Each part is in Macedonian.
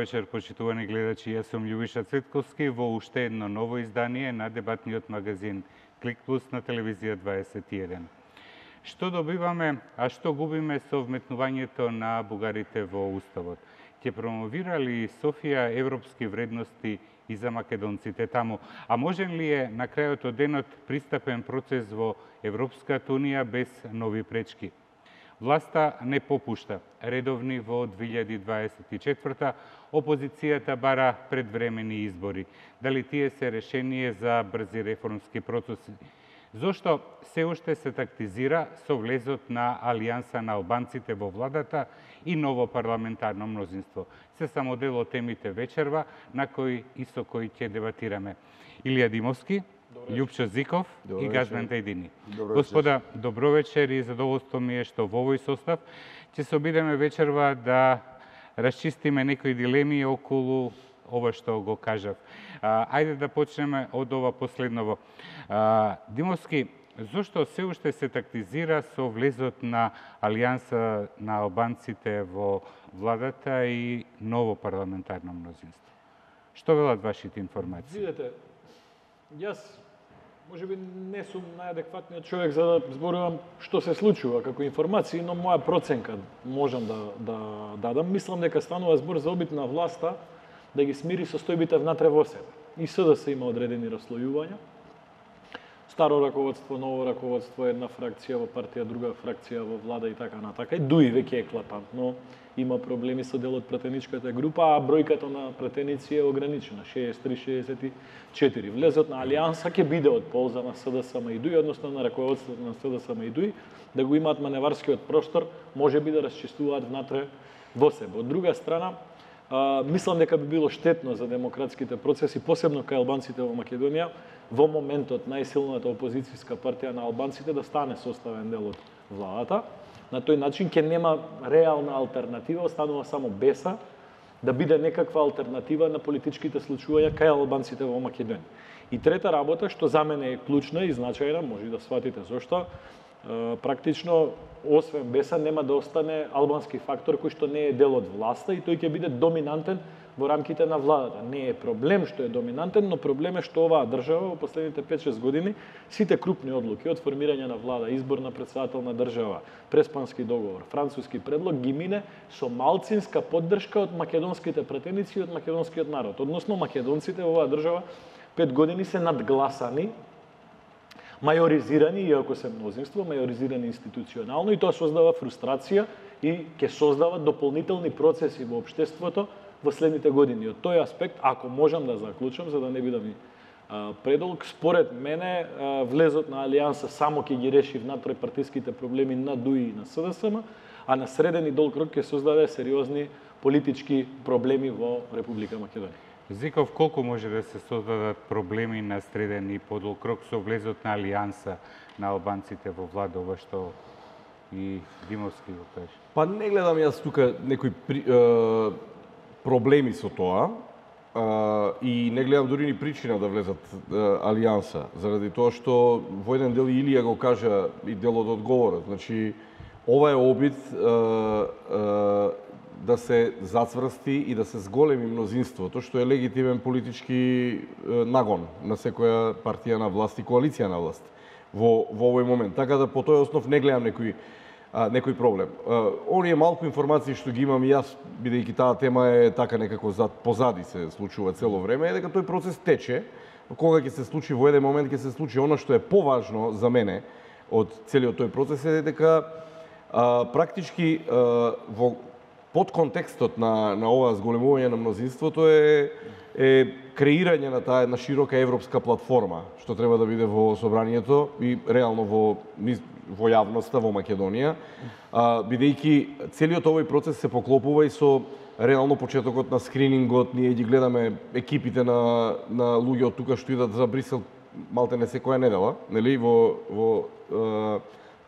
вечер, почитувани гледачи. Јас сум Љубиша Цветковски во уште едно ново издание на дебатниот магазин Клик Плюс на телевизија 21. Што добиваме, а што губиме со вметнувањето на бугарите во Уставот? Ќе промовира ли Софија европски вредности и за македонците таму? А можен ли е на крајот од денот пристапен процес во Европската унија без нови пречки? Власта не попушта. Редовни во 2024 опозицијата бара предвремени избори. Дали тие се решение за брзи реформски процеси? Зошто се уште се тактизира со влезот на Алијанса на албанците во владата и ново парламентарно мнозинство? Се само дел од темите вечерва на кои и со кои ќе дебатираме. Илија Димовски, Љупчо Зиков и Газмен Тајдини. Господа, добро вечер и задоволство ми е што во овој состав ќе се обидеме вечерва да расчистиме некои дилеми околу ова што го кажав. Ајде да почнеме од ова последново. Димовски, зошто се уште се тактизира со влезот на Алијанса на албанците во владата и ново парламентарно мнозинство? Што велат вашите информации? Видете, јас можеби не сум најадекватниот човек за да зборувам што се случува како информации, но моја проценка можам да дадам. Мислам дека станува збор за обид на власта да ги смири состојбите внатре во себе. И СДС има одредени раслојувања. Старо раководство, ново раководство, една фракција во партија, друга фракција во влада и така натака. И дуи веќе еклатантно има проблеми со дел од пратеничката група, а бројката на пратеници е ограничена, 63-64. Влезот на Алијанса ќе биде од полза на СДСМ и ДУИ, односно на раководството на СДСМ и ДУИ, да го имаат маневарскиот простор, може би да расчистуваат внатре во себе. Од друга страна, мислам дека би било штетно за демократските процеси, посебно кај албанците во Македонија, во моментот најсилната опозицијска партија на албанците да стане составен дел од владата. На тој начин ќе нема реална алтернатива, останува само беса да биде некаква алтернатива на политичките случувања кај албанците во Македонија. И трета работа, што за мене е клучна и значајна, може да сватите зошто, практично, освен беса, нема да остане албански фактор кој што не е дел од власта и тој ќе биде доминантен во рамките на владата. Не е проблем што е доминантен, но проблем е што оваа држава во последните 5-6 години сите крупни одлуки од формирање на влада, избор на претседател на држава, Преспански договор, француски предлог ги мине со малцинска поддршка од македонските пратеници и од македонскиот народ. Односно македонците во оваа држава 5 години се надгласани, мајоризирани, иако се мнозинство, мајоризирани институционално и тоа создава фрустрација и ќе создава дополнителни процеси во општеството во следните години. Од тој аспект, ако можам да заклучам, за да не бидам предолг, според мене влезот на Алијанса само ќе ги реши внатре партиските проблеми на ДУИ и на СДСМ, а на среден и долг рок ќе создаде сериозни политички проблеми во Република Македонија. Зиков, колку може да се создадат проблеми на среден и подолг рок со влезот на Алијанса на албанците во влада, ова што и Димовски го каже? Па не гледам јас тука некои проблеми со тоа и не гледам дури ни причина да влезат Алијанса, заради тоа што во еден дел Илија го кажа и дел од одговорот. Значи, ова е обид да се зацврсти и да се зголеми мнозинството, што е легитимен политички нагон на секоја партија на власт и коалиција на власт во овој момент. Така да по тој основ не гледам некој проблем. Оние малку информации што ги имам и јас, бидејќи таа тема е така некако позади се случува цело време, е дека тој процес тече. Кога ќе се случи во еден момент ќе се случи она што е поважно за мене од целиот тој процес е дека практички во под контекстот на ова зголемување на мнозинството е креирање на таа една широка европска платформа, што треба да биде во собранието и реално во јавноста во Македонија, бидејќи целиот овој процес се поклопува и со реално почетокот на скринингот. Ние ги гледаме екипите на луѓе од тука што идат за Брисел малте не секоја недела, нели, во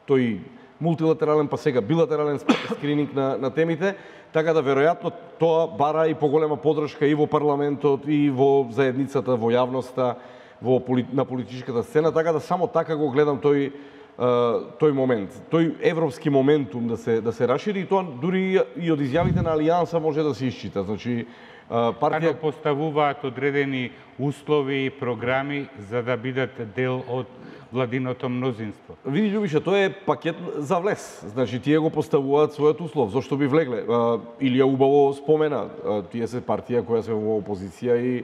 тој мултилатерален, па сега билатерален скрининг на темите, така да веројатно тоа бара и поголема поддршка и во парламентот, и во заедницата, во јавноста, на политичката сцена, така да само така го гледам тој момент, тој европски моментум да се расшири, и тоа дури и од изјавите на Алијанса може да се исчита. Значи, Партија поставуваат одредени услови и програми за да бидат дел од владиното мнозинство. Види, Љубиша, тоа е пакет за влез. Значи, тие го поставуваат својот услов. Зошто би влегле? Илија убаво спомена, тие се партија која се во опозиција и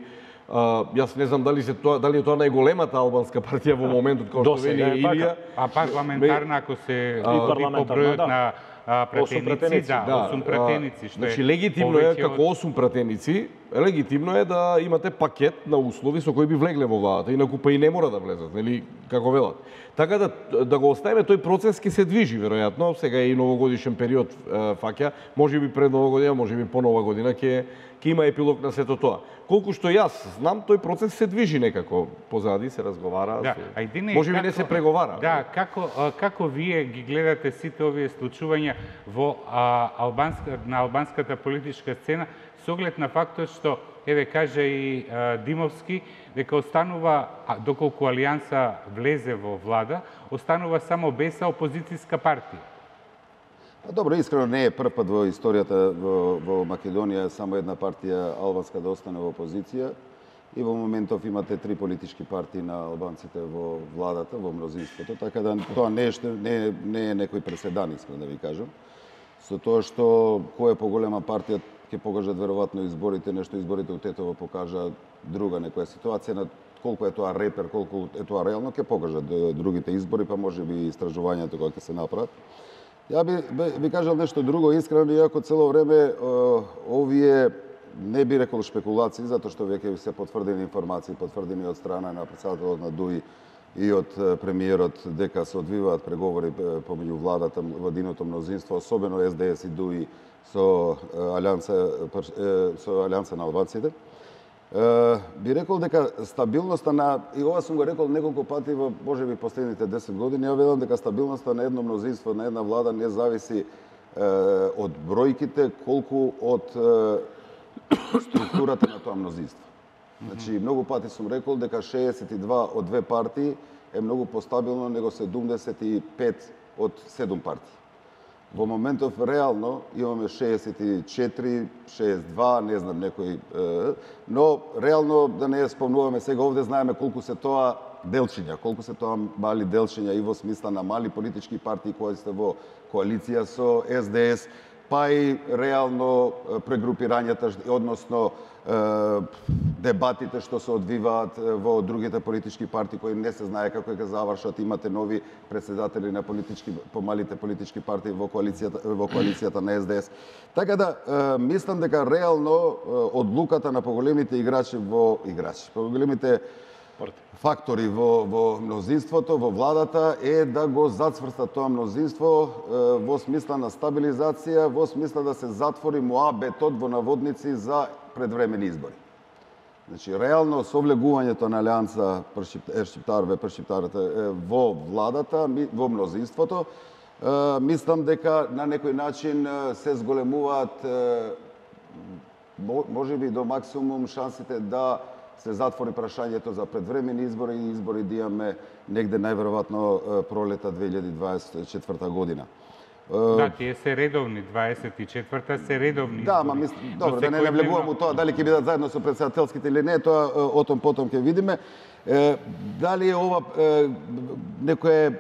јас не знам дали е тоа најголемата албанска партија во моментот, како што вели Илија. А парламентарна, ако се види по бројот на пратеници, 8 пратеници, што значи легитимно е како 8 пратеници, легитимно е да имате пакет на услови со кои би влегле во владата, инаку па и не мора да влезат, нели, како велат. Така да го оставиме, тој процес ќе се движи веројатно, сега е и новогодишен период фаќа, можеби пред нова година, можеби по нова година ќе има епилог на сето тоа. Колку што јас знам, тој процес се движи некако позади, се разговара, да, можеби не се преговара. Да, како вие ги гледате сите овие случувања во на албанската политичка сцена, со оглед на фактот што, еве кажа и Димовски, дека останува, доколку Алијанса влезе во влада, останува само БЕСА опозицијска партија. Добро, искрено не е прв пат во историјата во Македонија само една партија албанска да остане во опозиција и во моментов имате 3 политички партии на албанците во владата, во мнозинството, така да тоа не е некој преседан, искрено да ви кажам. Со тоа што која е поголема партија ќе покажат веројатно изборите, нешто изборите од Тетово покажа друга некоја ситуација, на колку е тоа репер, колку е тоа реално, ќе покажат другите избори, па можеби истражувањето кога ќе се направат. Ја би кажал нешто друго, искрено, иако цело време овие, не би рекол шпекулации, затоа што веќе се потврдени информации, потврдени од страна на претседателот на ДУИ и од премиерот, дека се одвиваат преговори помеѓу владата, владиното мнозинство, особено СДС и ДУИ со Алијанса на албанците. Би рекол дека стабилноста на, и ова сум го рекол неколку пати во можеби последните 10 години, ја велам дека стабилноста на едно мнозинство, на една влада не зависи од бројките, колку од структурата на тоа мнозинство. Значи, многу пати сум рекол дека 62 од 2 партии е многу постабилно него 75 од 7 партии. Во моментов реално имаме 64, 62, не знам некој, но реално да не спомнуваме сега овде, знаеме колку се тоа делчиња, колку се тоа мали делчиња и во смисла на мали политички партии кои се во коалиција со СДС, па и реално прегрупирањата, односно дебатите што се одвиваат во другите политички партии кои не се знае како ќе завршат, имате нови претседатели на помалите политички партии во коалицијата на СДС. Така да мислам дека реално одлуката на поголемите поголемите фактори во мнозинството, во владата е да го зацврста тоа мнозинство во смисла на стабилизација, во смисла да се затвори муабетот во наводници за предвремени избори. Значи, реално со влегувањето на Алијанса Шиптарите во владата, во мнозинството, мислам дека на некој начин се зголемуваат можеби до максимум шансите да се затвори прашањето за предвремени избори и избори да имаме негде најверојатно пролета 2024 година. Да, тие се редовни, 24-та се редовни. Да, ама добро, да не навлегувам у тоа дали ќе бидат заедно со претседателските или не, тоа отом потом ќе видиме. Дали е ова некое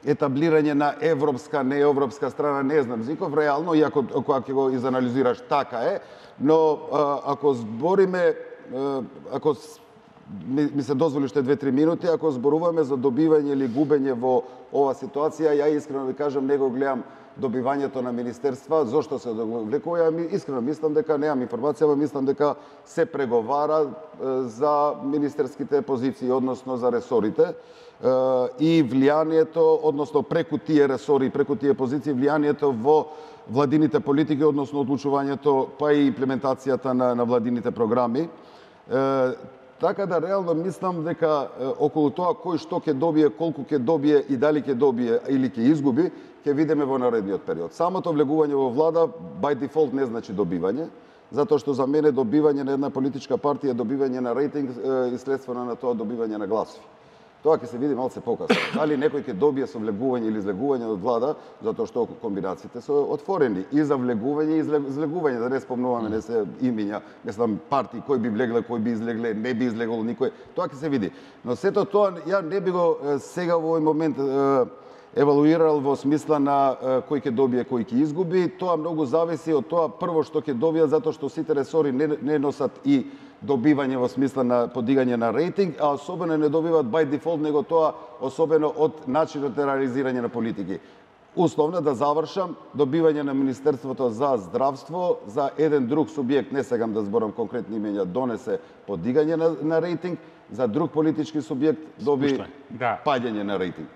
етаблирање на европска, неевропска страна, не знам Зиков, реално, иако кога ќе го изанализираш така е, но ако збориме, ако ми се дозволи уште 2-3 минути, ако зборуваме за добивање или губење во ова ситуација, ја искрено ви кажам, не го гледам добивањето на министерства, зошто се довлекува, искрено мислам дека немам информација, но мислам дека се преговара за министерските позиции, односно за ресорите и влијанието, односно преку тие ресори, преку тие позиции, влијанието во владините политики, односно одлучувањето, па и имплементацијата на владините програми. Така да реално мислам дека околу тоа кој што ќе добие, колку ќе добие и дали ќе добие или ќе изгуби, ќе видиме во наредниот период. Самото влегување во влада by default не значи добивање, затоа што за мене добивање на една политичка партија е добивање на рейтинг и следствено на тоа добивање на гласови. Тоа ќе се види малце покасно. Дали некој ќе добие со влегување или излегување од влада, затоа што комбинациите се отворени и за влегување и излегување, да не спомнуваме, не се имиња, мислам партии кој би влегле, кој би излегле, не би излегол никој. Тоа ќе се види. Но сето тоа ја не би го сега во овој момент евалуирал во смисла на кој ќе добие, кој ќе изгуби. Тоа многу зависи од тоа прво што ќе добијат, затоа што сите ресори не носат и добивање во смисла на подигање на рейтинг, а особено не добиваат by default, него тоа особено од начинот на реализирање на политики. Условно да завршам, добивање на Министерството за здравство за еден друг субјект, не сегам да зборам конкретни имења, донесе подигање на рейтинг, за друг политички субјект доби паѓање на рейтинг.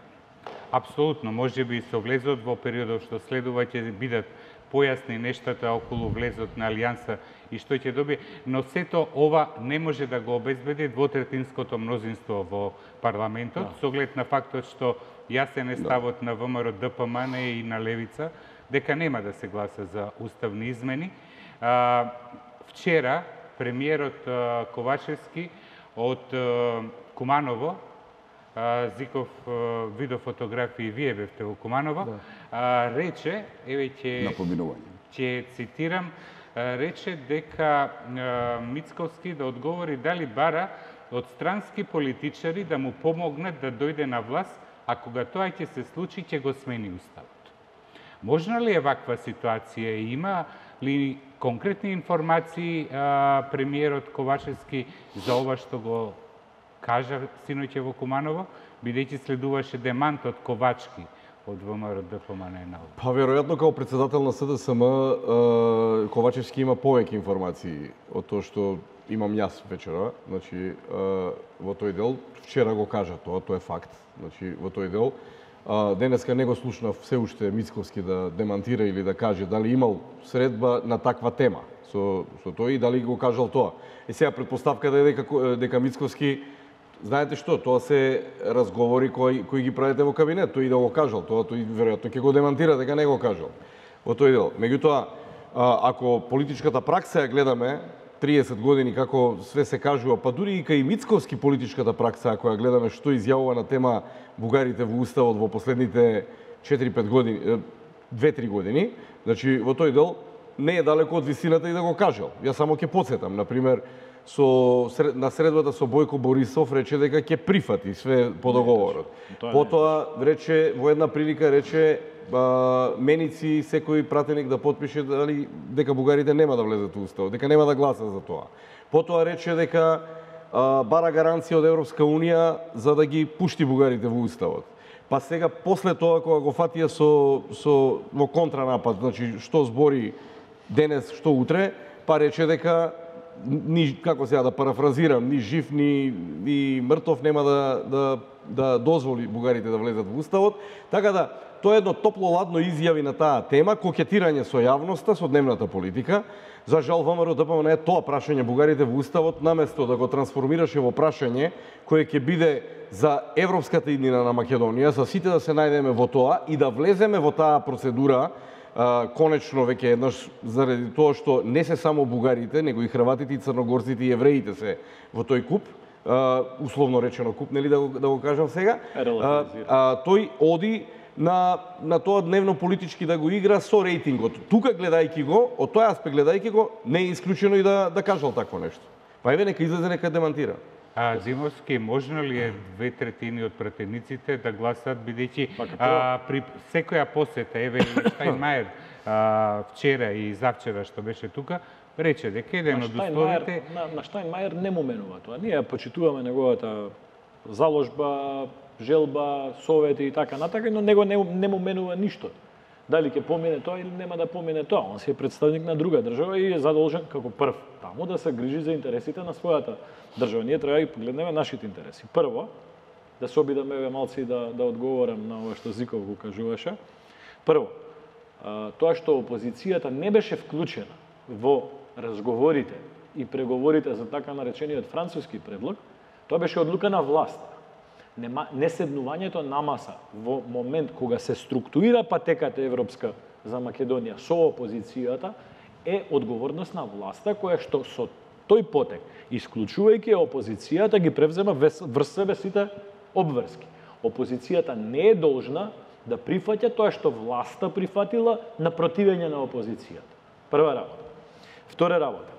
Апсолутно, може би со влезот во периодот што следува ќе бидат појасни нештата околу влезот на Алијанса и што ќе добие, но сето ова не може да го обезбеди двотретинското мнозинство во парламентот, со оглед на фактот што јасен е ставот на ВМРО ДПМН и на Левица, дека нема да се гласа за уставни измени. Вчера премиерот Ковачевски од Куманово, Зиков видео фотографии, вие бевте во Куманово, рече, еве ќе цитирам, рече дека Мицковски да одговори дали бара од странски политичари да му помогнат да дојде на власт, а кога тоа ќе се случи, ќе го смени уставот. Можна ли е ваква ситуација? Има ли конкретни информации премиерот Ковачевски за ова што го кажа синоќа во Куманово, бидејќи следуваше демант од Ковачки од ВМРО ДПМН? Па веројатно како председател на СДСМ Ковачевски има повеќе информации од тоа што имам јас вечера, значи во тој дел вчера го кажа тоа е факт, значи во тој дел. Денеска не го слушнав се уште Мицковски да демантира или да каже дали имал средба на таква тема со тој и дали го кажал тоа. И сега предпоставката е дека Мицковски, знаете што, тоа се разговори кои ги правите во кабинет, тој и да го кажал, тој веројатно ќе го демантира дека не го кажал во тој дел. Меѓутоа, ако политичката пракса ја гледаме 30 години како све се кажува, па дури и кај Мицковски политичката пракса, ако ја гледаме што изјавува на тема бугарите во уставот во последните 4-5 години, 2-3 години, значи во тој дел не е далеко од висината и да го кажал. Јас само ќе потсетам, например, на средбата со Бојко Борисов рече дека ќе прифати све по договорот. Потоа рече, во една прилика рече меници секој пратеник да потпише дека бугарите нема да влезат во уставот, дека нема да гласат за тоа. Потоа рече дека бара гаранција од Европска унија за да ги пушти бугарите во уставот. Па сега после тоа кога го фатија во контранапад, значи што збори денес, што утре, па рече дека како сега да парафразирам, ни жив ни мртов нема да дозволи бугарите да влезат во уставот. Така да тоа е едно топло-ладно изјави на таа тема, кокетирање со јавноста, со дневната политика. За жал ВМРО ДПМН е тоа прашање бугарите во уставот, наместо да го трансформираше во прашање кое ќе биде за европската иднина на Македонија, за сите да се најдеме во тоа и да влеземе во таа процедура, конечно веќе еднаш, заради тоа што не се само бугарите, него и хрватите, и црногорците, и евреите се во тој куп, условно речено куп, нели да го кажам сега, тој оди на тоа дневно политички да го игра со рейтингот. Тука гледајќи го, од тој аспект гледајќи го, не е исклучено и да кажал такво нешто. Па еве нека излезе, нека демантира. Зимовски, можно ли е 2/3 од пратениците да гласат, бидејќи при секоја посета, еве Штајнмајер вчера и завчера што беше тука, рече дека еден од условите... На Штајнмајер не му менува тоа. Ние почитуваме неговата заложба, желба, совети и така натака, но него не му менува ништо. Дали ќе помине тоа или нема да помине тоа. Он си е представник на друга држава и е задолжен како прв таму да се грижи за интересите на својата држава. Ние треба да погледнеме нашите интереси. Прво, да се обидаме малци да одговорам на ова што Зиков го кажуваше. Прво, тоа што опозицијата не беше вклучена во разговорите и преговорите за така наречениот француски предлог, тоа беше одлука на власт. Неседнувањето на маса во момент кога се структурира патеката европска за Македонија со опозицијата е одговорност на власта која што со тој потек, исклучувајќи опозицијата, ги превзема врз себе сите обврски. Опозицијата не е должна да прифаќа тоа што власта прифатила на противење на опозицијата. Прва работа. Втора работа.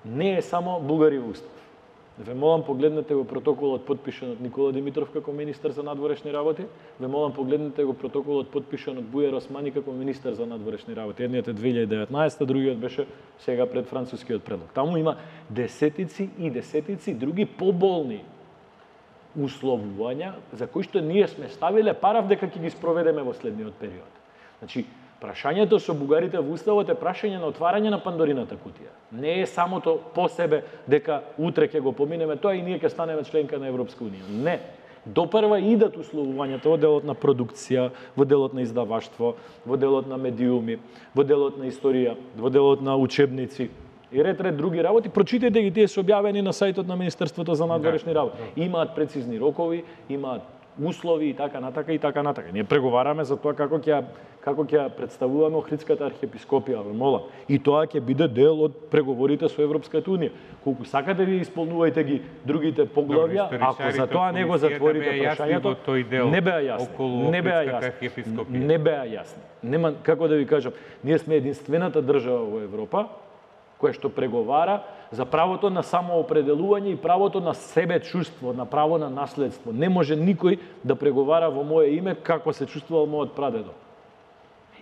Не е само Бугари во устав. Ве молам погледнете го протоколот потпишан од Никола Димитров како министер за надворешни работи. Ве молам погледнете го протоколот потпишан од Бујар Османи како министер за надворешни работи. Едниот е 2019, другиот беше сега пред францускиот предлог. Таму има десетици и десетици други поболни условувања за кои што ние сме ставиле парав дека ќе ги спроведеме во следниот период. Значи, прашањето со бугарите во уставот е прашање на отварање на Пандорината кутија. Не е самото по себе дека утре ќе го поминеме тоа и ние ќе станеме членка на Европска унија. Не. Допрва идат условувањата во делот на продукција, во делот на издаваштво, во делот на медиуми, во делот на историја, во делот на учебници и ред други работи. Прочитете ги, тие се објавени на сајтот на Министерството за надворешни работи. Имаат прецизни рокови, имаат услови и така натака и така натака. Ние преговараме за тоа како ќе представуваме Охридската архиепископија, молам. И тоа ќе биде дел од преговорите со Европската унија. Колку сакате ви исполнувајте ги другите поглавја, ако за тоа не го затворите прашањето, не беа јасни. Не беа јасни. Нема како да ви кажам, ние сме единствената држава во Европа која што преговара за правото на самоопределување и правото на себе чувство, на право на наследство. Не може никој да преговара во мое име како се чувствувал мојот прадедо.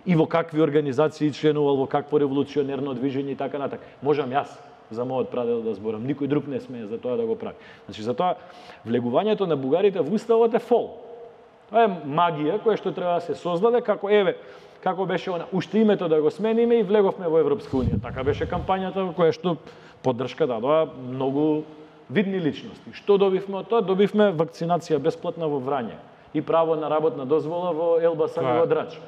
И во какви организации членувал, во какво револуционерно движење и така натака. Можам јас за мојот прадедо да зборам, никој друг не смее за тоа да го прави. Значи, за тоа влегувањето на бугарите во уставот е фол. Тоа е магија која што треба да се создаде како како беше она, уште името да го смениме и влеговме во Европска унија. Така беше кампањата во која што поддршка дадоа многу видни личности. Што добивме од тоа? Добивме вакцинација бесплатна во Врање и право на работна дозвола во Елбасан и во Драч.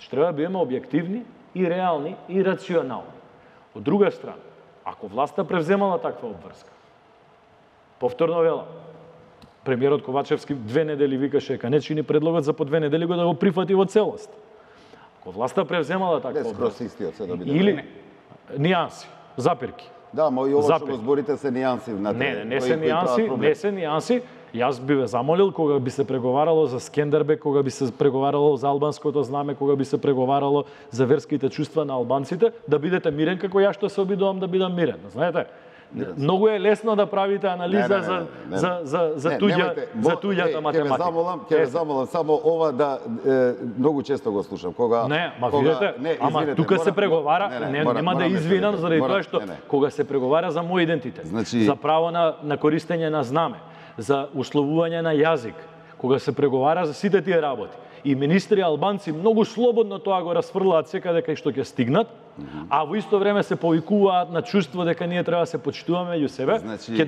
Треба да бидеме објективни и реални и рационални. Од друга страна, ако власта превземала таква обврска, повторно велам, премиерот Ковачевски 2 недели викаше дека не чини предлогот за по 2 недели го да го прифати во целост. Ако власта превземала таква обврска, или нијанси, запирки. Да, мо и ова што го зборите се нијанси. Не се нијанси. Јас би ве замолил кога би се преговарало за Скендербек, кога би се преговарало за албанското знаме, кога би се преговарало за верските чувства на албанците, да бидете мирен како ја што се обидувам да бидам мирен. Знаете, многу е лесно да правите анализа за туѓата математика. Ќе ве замолам само ова да многу често го слушам. Кога видите, тука се преговара, нема да извинам заради тоа што кога се преговара за мој идентитет, за право на користење на знаме, за условување на јазик, кога се преговара за сите тие работи. И министри албанци многу слободно тоа го расфрлаат секаде кај што ќе стигнат, а во исто време се повикуваат на чувство дека ние треба да се почитуваме меѓу себе. Ќе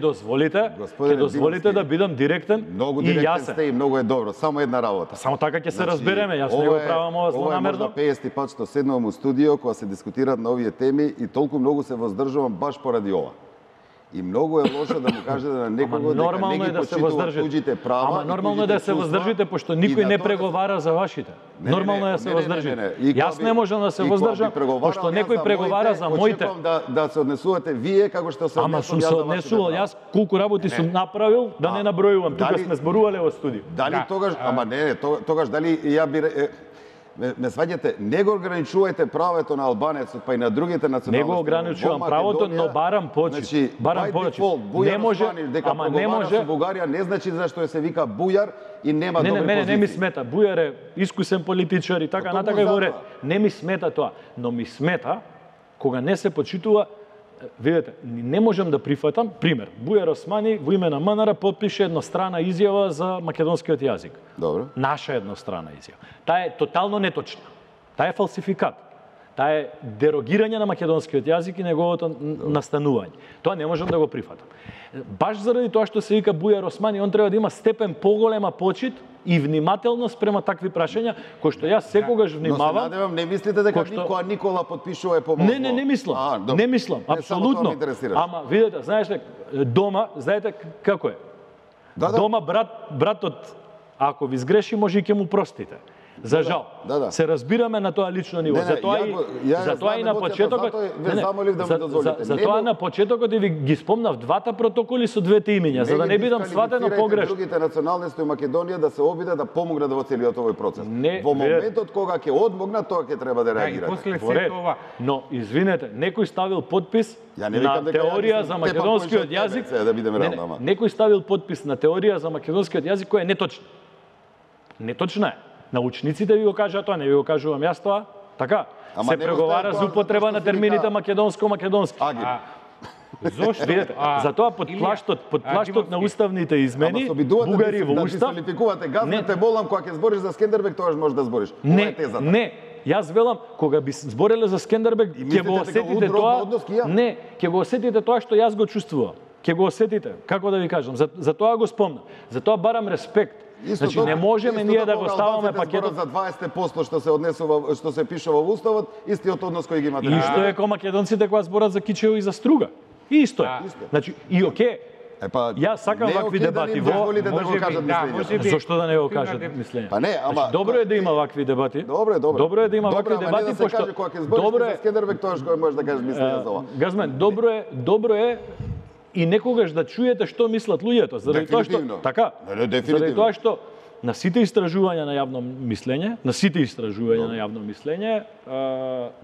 дозволите да бидам директен и јасен. Многу директен сте и многу е добро. Само една работа. Само така ќе се разбереме. Јас не го правам ова злонамерно. Ова е можда 50 пат што седнувам у студио кога се дискутираат на овие теми и толку многу се воздржувам баш поради ова. И многу е лошо да му кажете на некого дека не ги почитува туѓите права. Ама нормално е да се воздржите, пошто никој не преговара за вашите. Нормално е да се воздржите. Јас не можам да се воздржам, пошто некој преговара за моите. Очекувам да се однесувате вие како што се однесувам. Ама сум се однесувал, јас колку работи сум направил, да не набројувам. Тука сме зборувале во студио. Дали тогаш, ама не, тогаш дали ја би ме сваѓате, не го ограничувајте правото на албанецот, па и на другите националности. Не го ограничувам правото, но барам почит. Значи, барам почит. Не може, ама не може. Со Бугарија не значи зашто се вика Бујар и нема добри позиции. Не ми смета. Бујар е искусен политичар и така натака и во ред. Не ми смета тоа, но ми смета кога не се почитува. Видете, не можам да прифатам, пример, Бујар Османи во име на МНР потпише еднострана изјава за македонскиот јазик. Добро. Наша еднострана изјава. Таа е тотално неточна. Таа е фалсификат. Таа е дерогирање на македонскиот јазик и неговото настанување. Тоа не можам да го прифатам. Баш заради тоа што се вика Бујар Османи, он треба да има степен поголема почит и внимателност према такви прашања, кои што јас секогаш внимавам. Но се надевам, не мислите дека Никола потпишува помојство? Не мислам. Не мислам, апсолутно. Ама видете, знаете, дома, знаете како е? Дома братот, ако ви сгреши, може и ќе му простите. За жал. Да. Се разбираме на тоа лично ниво. Затоа и на почетокот затоа на почетокот ви ги спомнав двата протоколи со двете имиња, за да не бидам сватено погрешно. Другите националности у Македонија да се обидат да помогнат во целиот овој процес. Во моментот кога ќе одмогнат, тоа ќе треба да реагирате. Но извинете, некој ставил подпис на теорија за македонскиот јазик. Некој ставил подпис на теорија за македонскиот јазик која е неточна. Неточна е. Научниците ви го кажаа тоа, не ви го кажувам јас тоа. Така? Се преговара за употреба на термините македонско-македонски. Зошто? Видете, затоа под плаштот на уставните измени, бугари во устав... Да дисквалификувате газмете, молам, кога ќе збориш за Скендербег, тогаш можеш да збориш. Не, јас велам, кога би збореле за Скендербег, ќе го осетите тоа... Не, ќе го осетите тоа што јас го чувствувам. Ќе го осетите, како да ви кажам, за тоа го спомнам. За тоа барам респект. Значи не можеме ние да го ставаме пакетот за 20% што се однесува, што се пише во уставот, истиот однос кој ги имате. Исто е кога македонците кога зборат за Кичево и за Струга. Исто е. Значи и окей. Јас сакам вакви дебати во Зошто да не го кажат мислење? Па не, ама добро е да има вакви дебати. Добро е да има вакви дебати пошто добро е Скендербег тоаш кој можеш да кажеш мислење за ова. Газмен, добро е и некогаш да чуете што мислат луѓето, заради тоа што така, заради тоа што на сите истражувања на јавно мислење,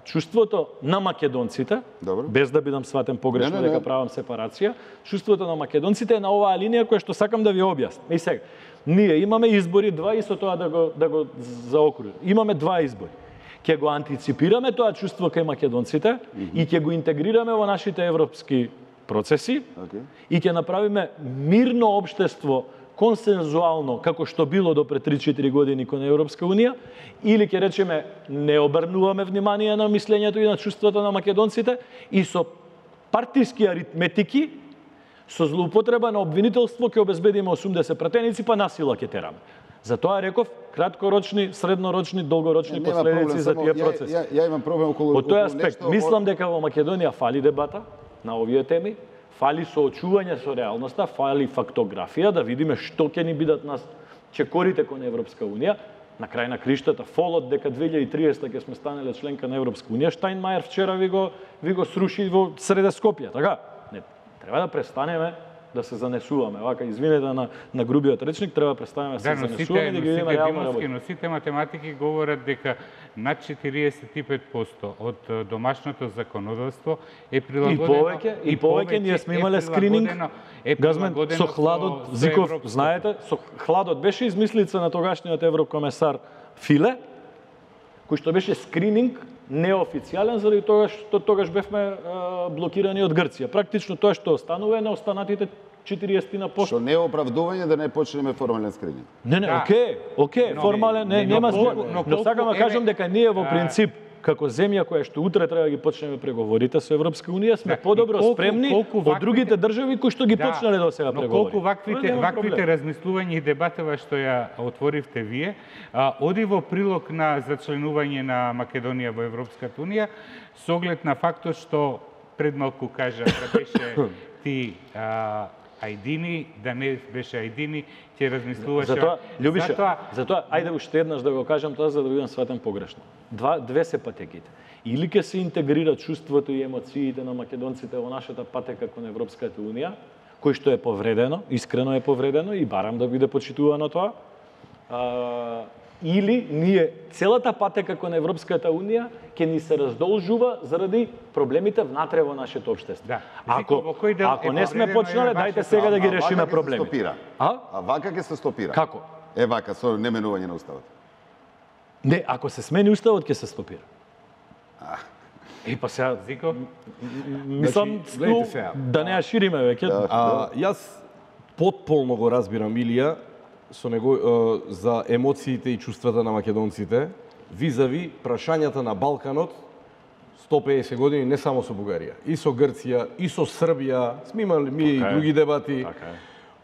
чувството на македонците, без да бидам сватен погрешно дека правам сепарација, чувството на македонците е на оваа линија која што сакам да ви објаснам. И сега, ние имаме избори два и со тоа да го заокружим. Имаме два избори. Ќе го антиципираме тоа чувство кај македонците и ќе го интегрираме во нашите европски процеси и ќе направиме мирно општество, консензуално, како што било до пред 3-4 години кон Европска Унија, или ќе речеме не обрнуваме внимание на мислењето и на чувството на македонците и со партиски аритметики, со злоупотреба на обвинителство ќе обезбедиме 80 пратеници, па насила ќе тераме. Затоа реков краткорочни, среднорочни, долгорочни последици за тие процеси. Ја имам проблем околу тој аспект. Мислам дека во Македонија фали дебата на овие теми, фали соочување со реалноста, фали фактографија, да видиме што ќе ни бидат нас чекорите кон Европска Унија. На крај на криштата, фолот дека 2030 ќе сме станеле членка на Европска Унија, Штајнмајер вчера ви го сруши во среде Скопје, така? Не, треба да престанеме да се занесуваме. Вака, извинете на грубиот речник, треба да престанеме да се занесуваме и да ги видиме реално работи. Но сите математики говорат дека над 45% од домашното законодавство е прилагодено. И повеќе ние сме имале скрининг. Газмен, со хладот, Зиков, знаете, со хладот беше измислица на тогашниот еврокомесар Филе, кој што беше скрининг неофицијален, заради тоа што тогаш бевме блокирани од Грција. Практично тоа што останува е на останатите 40%. Што не е оправдување да не почнеме формален скрининг. Не, окей, формален, нема збор. Но сакам да кажам дека ние во принцип, како земја која што утре треба да ги почнеме преговорите со Европска Унија, сме подобро спремни од другите држави кои што ги почнале до сега преговори. Но колку ваквите размислувања и дебатава што ја отворивте вие, оди во прилог на зачленување на Македонија во Европската Унија, со оглед на фактот што пред малку кажа да беше ти ајдини, да не беше ајдини, ќе размислуваше. Затоа, ајде уште еднаш да го кажам тоа за да бидам сватен погрешно. Две се патеките. Или ќе се интегрира чувството и емоциите на македонците во нашата патека кон Европската Унија, кој што е повредено, искрено е повредено и барам да биде почитувано тоа. Или ние целата патека кон Европската Унија ќе ни се раздолжува заради проблемите внатре во нашето општество. Ако не сме почнале, дајте сега да ги решиме проблемите. А вака ќе се стопира. Како? Вака со неменување на уставот. Не, ако се смени уставот ќе се стопира. Па сега Зико, мислам да не ја шириме веќе. Јас потполно го разбирам Илија со него за емоциите и чувствата на македонците визави прашањата на Балканот 150 години не само со Бугарија, и со Грција, и со Србија, сме имали и други дебати.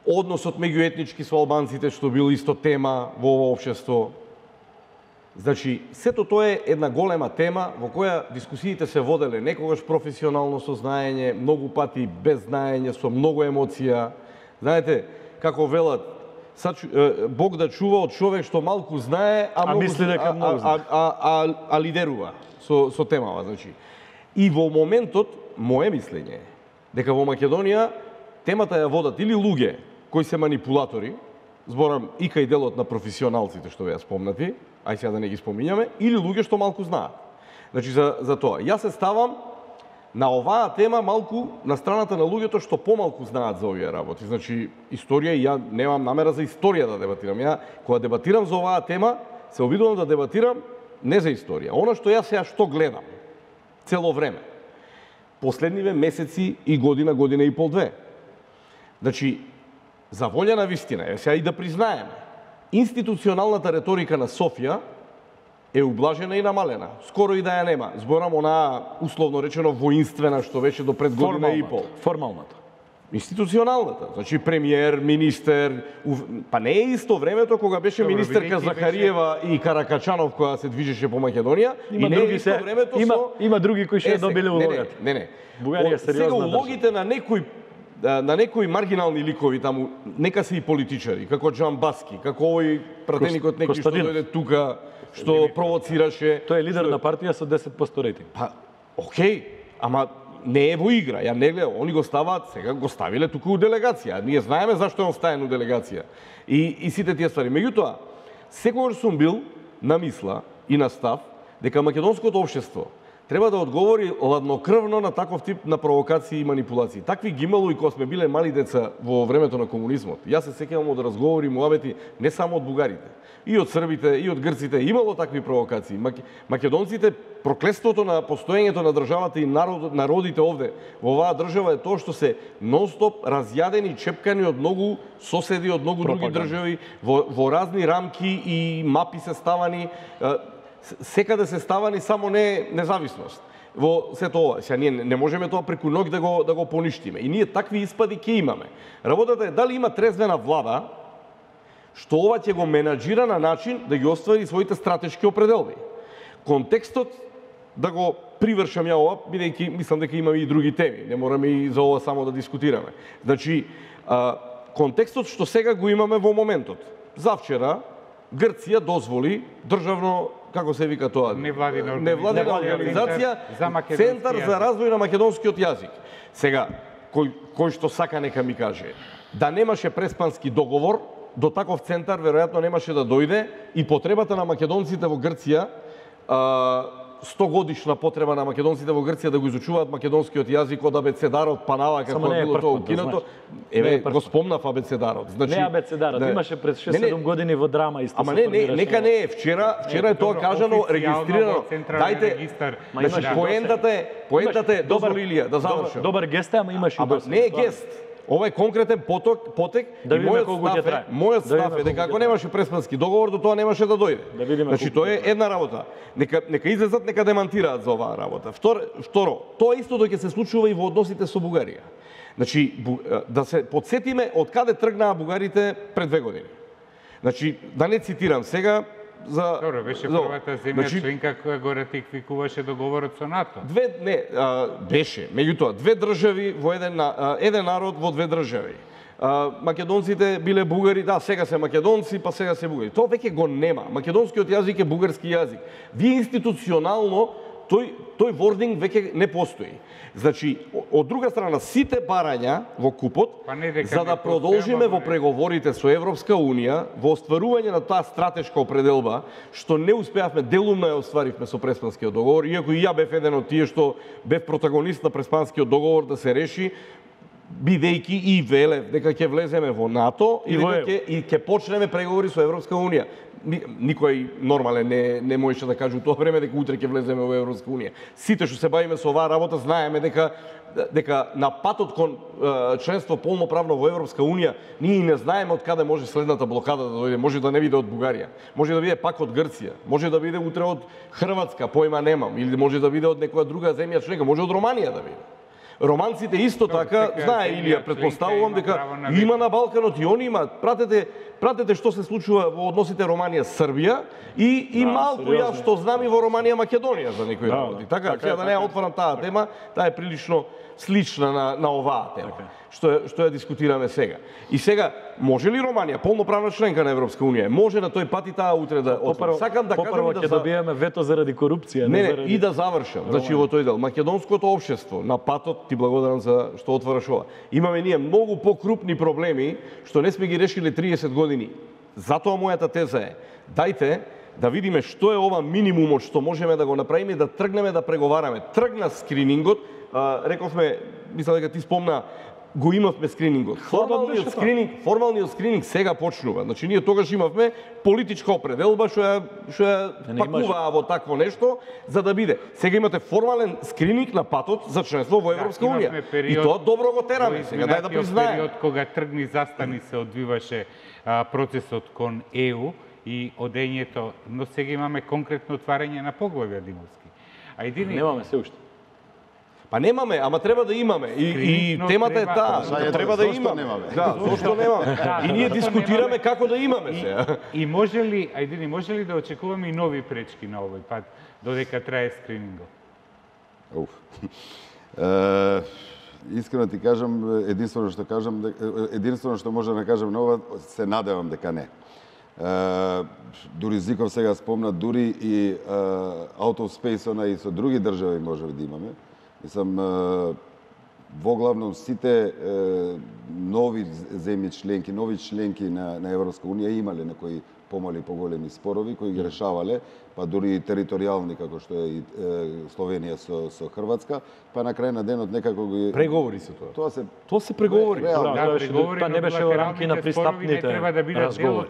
Односот меѓуетнички со албанците што бил исто тема во ова општество. Значи, сето тоа е една голема тема во која дискусиите се воделе некогаш професионално со знаење, многу пати без знаење, со многу емоција. Знаете, како велат, Бог да чува од човек што малку знае, а мисли дека многу знае. А лидерува со темава, значи. И во моментот мое мислење е дека во Македонија темата ја водат или луѓе кои се манипулатори, зборам и кај делот на професионалците што беа спомнати, ај сега да не ги спомињаме, или луѓе што малку знаат. Значи за тоа. Јас се ставам на оваа тема малку на страната на луѓето што помалку знаат за овие работи. Значи историја, и ја немам намера за историја да дебатирам. Ја кога дебатирам за оваа тема, се обидувам да дебатирам не за историја. Она што јас сега што гледам цело време. Последниве месеци и година и пол, две. Значи, за волја на вистина, сега и да признаеме, институционалната реторика на Софија е ублажена и намалена. Скоро и да ја нема. Зборам онаа, условно речено, воинствена, што беше до пред година и пол. Формалната. Институционалната. Значи, премиер, министер... Па не е исто времето кога беше министерка Захариева и Каракачанов која се движеше по Македонија. Има и не други е исто времето има други кои ќе добиле улогата. Не. Бугарија е сериозна сега улогите на некои маргинални ликови таму, нека се и политичари, како Джамбаски, како овој пратеникот некој што дојде тука, што провоцираше. Тој е лидер на партија со 10% рейтинг. Па, окей, ама не е во игра. Ја не гледам, они го ставаат, сега го ставиле тука у делегација. Ние знаеме зашто е он стаен у делегација. И сите тие ствари. Меѓутоа, секогаш сум бил на мисла и на став дека македонското општество треба да одговори ладнокрвно на таков тип на провокации и манипулации. Такви ги имало и кога сме биле мали деца во времето на комунизмот. Јас се сеќавам од разговори, муабети не само од бугарите, и од србите, и од грците, имало такви провокации. Македонците, проклетството на постоењето на државата и народите овде во оваа држава е тоа што се нон-стоп разјадени, чепкани од многу соседи, од многу други држави, во разни рамки и мапи се ставани, секаде се ставани, само не независност. Во сето ова, сега ние не можеме тоа преку ноќ да го поништиме. И ние такви испади ќе имаме. Работата е дали има трезвена влада што ова ќе го менаџира на начин да ги оствари своите стратешки определби. Контекстот да го привршам ја ова, бидејќи мислам дека имаме и други теми, не мораме и за ова само да дискутираме. Значи, контекстот што сега го имаме во моментот. Завчера Грција дозволи државно, како се вика тоа, невладина организација, Центар за развој на македонскиот јазик. Сега, кој што сака нека ми каже, да немаше преспански договор, до таков центар веројатно немаше да дојде и потребата на македонците во Грција, 100 годишна потреба на македонците во Грција да го изучуваат македонскиот јазик од абецедарот Панава, како било тоа укинато. Еве, го спомнав абецедарот. Значи, не абецедарот, имаше пред 6-7 години во драма исто. Ама нека не е. Вчера е тоа кажано, регистрирано. Дајте, значи поентата е дозволи Илија да завршам. Добар гест, ама имаш и досега. Не е гест. Ова е конкретен потек да и мојот став е дека ако немаше преспански договор, до тоа немаше да дојде. Значи тоа е една работа. Нека излезат, нека демантираат за оваа работа. Второ, тоа истото ќе се случува и во односите со Бугарија. Значи да се подсетиме од каде тргнаа бугарите пред 2 години. Значи да не цитирам сега за Добро, беше првата земја членка која го ратификуваше договорот со НАТО. Беше, меѓутоа две држави во еден народ во две држави. Македонците биле бугари, да, сега се македонци, па сега се бугари. Тоа веќе го нема. Македонскиот јазик е бугарски јазик. Вие институционално тој вординг веќе не постои. Значи, од друга страна, сите барања во купот, за да продолжиме во преговорите со Европска Унија, во остварување на таа стратешка определба, што не успеавме, делумно ја остваривме со Преспанскиот договор, иако и ја бев еден од тие што бев протагонист на Преспанскиот договор да се реши, бидејќи и велев дека ќе влеземе во НАТО и ќе почнеме преговори со Европска Унија. Никој нормален не можеше да каже у тоа време дека утре ќе влеземе во Европска Унија. Сите што се бавиме со оваа работа знаеме дека на патот кон членство полноправно во Европска Унија ние не знаеме од каде може следната блокада да дојде. Може да не биде од Бугарија, може да биде пак од Грција, може да биде утре од Хрватска, појма немам, или може да биде од некоја друга земја члена, може од Романија да биде. Романците исто така, знае Илија, претпоставувам дека има на Балканот и они имаат. Пратете, пратете што се случува во односите Романија-Србија и малку јас што знам и во Романија-Македонија за некои работи. Така, сега да не ја отварам таа тема, таа е прилично слична на оваа тема, што ја дискутираме сега. И сега, може ли Романија, полноправна членка на Европска Унија, може на тој пат и таа утре да отвори? Сакам да кажам и да добиеме вето заради корупција, не заради... И да завршам, значи во тој дел, македонското општество на патот, ти благодарам за што отвараш ова. Имаме ние многу покрупни проблеми што не сме ги решиле 30 години. Затоа мојата теза е, дајте да видиме што е ова минимумот што можеме да го направиме и да тргнеме да преговараме. Тргна скринингот, рековме, мислам дека ти спомна, го имавме скринингот. Формалниот скрининг сега почнува. Значи ние тогаш имавме политичка определба што ја пакуваа во такво нешто за да биде. Сега имате формален скрининг на патот за членство во Европска Унија. И тоа добро го тераме сега, дај да признаеме. Период кога тргни застани се одвиваше процесот кон ЕУ и одењето, но сега имаме конкретно отварање на поглавја Димовски. А едини немаме се уште. Па немаме, ама треба да имаме. И темата е таа, треба да имаме. Да, зошто немаме? И ние дискутираме како да имаме сега. И може ли, ајде, може ли да очекуваме и нови пречки на овој пат, додека трае скринингот? Искрено ти кажам, единствено што може да кажам на ова, се надевам дека не. Дури Зиков сега спомна, дури и out of space-она и со други држави може да имаме. Мислам, во главном сите нови земји членки, нови членки на Европска Унија имале некои помали поголеми спорови кои ги решавале, па дури и територијални како што е и Словенија со Хрватска, па на крај на денот некако ги преговори се тоа. Тоа се преговори. Тоа не беше во рамки на пристапните разговори.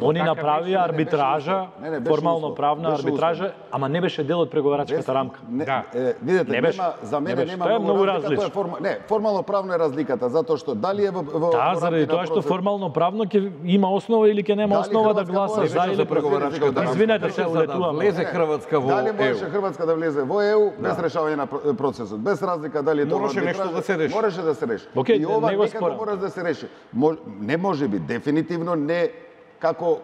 Они направија арбитража, формално правна арбитража, ама не беше дел од преговарачката рамка. Видете, за мене нема многу разлика. Не, формално правно е разликата, затоа што дали е во заради тоа што формално правно ќе има основа или ќе нема основа да гласа за или преговарачката. Извинете се, улетуваме. Влезе Хрватска во ЕУ. Дали можеше Хрватска да влезе во ЕУ без решавање на процесот, без разлика дали тоа можеше нешто да се реши. Можеше да се реши. И ова некако мора да се реши. Не може би, дефинитивно не како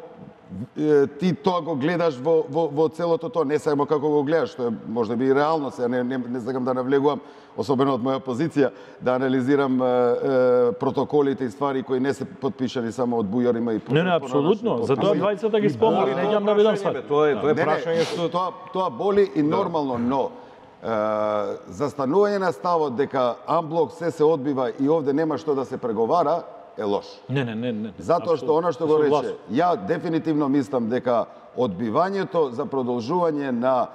ти тоа го гледаш во целото тоа, не само како го гледаш, што е можеби и реално, се не сакам да навлегувам, особено од моја позиција, да анализирам протоколите и ствари кои не се подпишани само од бујарима и Не, апсолутно, затоа двајцата ги спомнали, не ќе да бидам сват. Тоа е прашање што тоа боли и нормално, но застанување на ставот дека амблок се одбива и овде нема што да се преговара, е лош. Не. Затоа што она што го рече, ја дефинитивно мислам дека одбивањето за продолжување на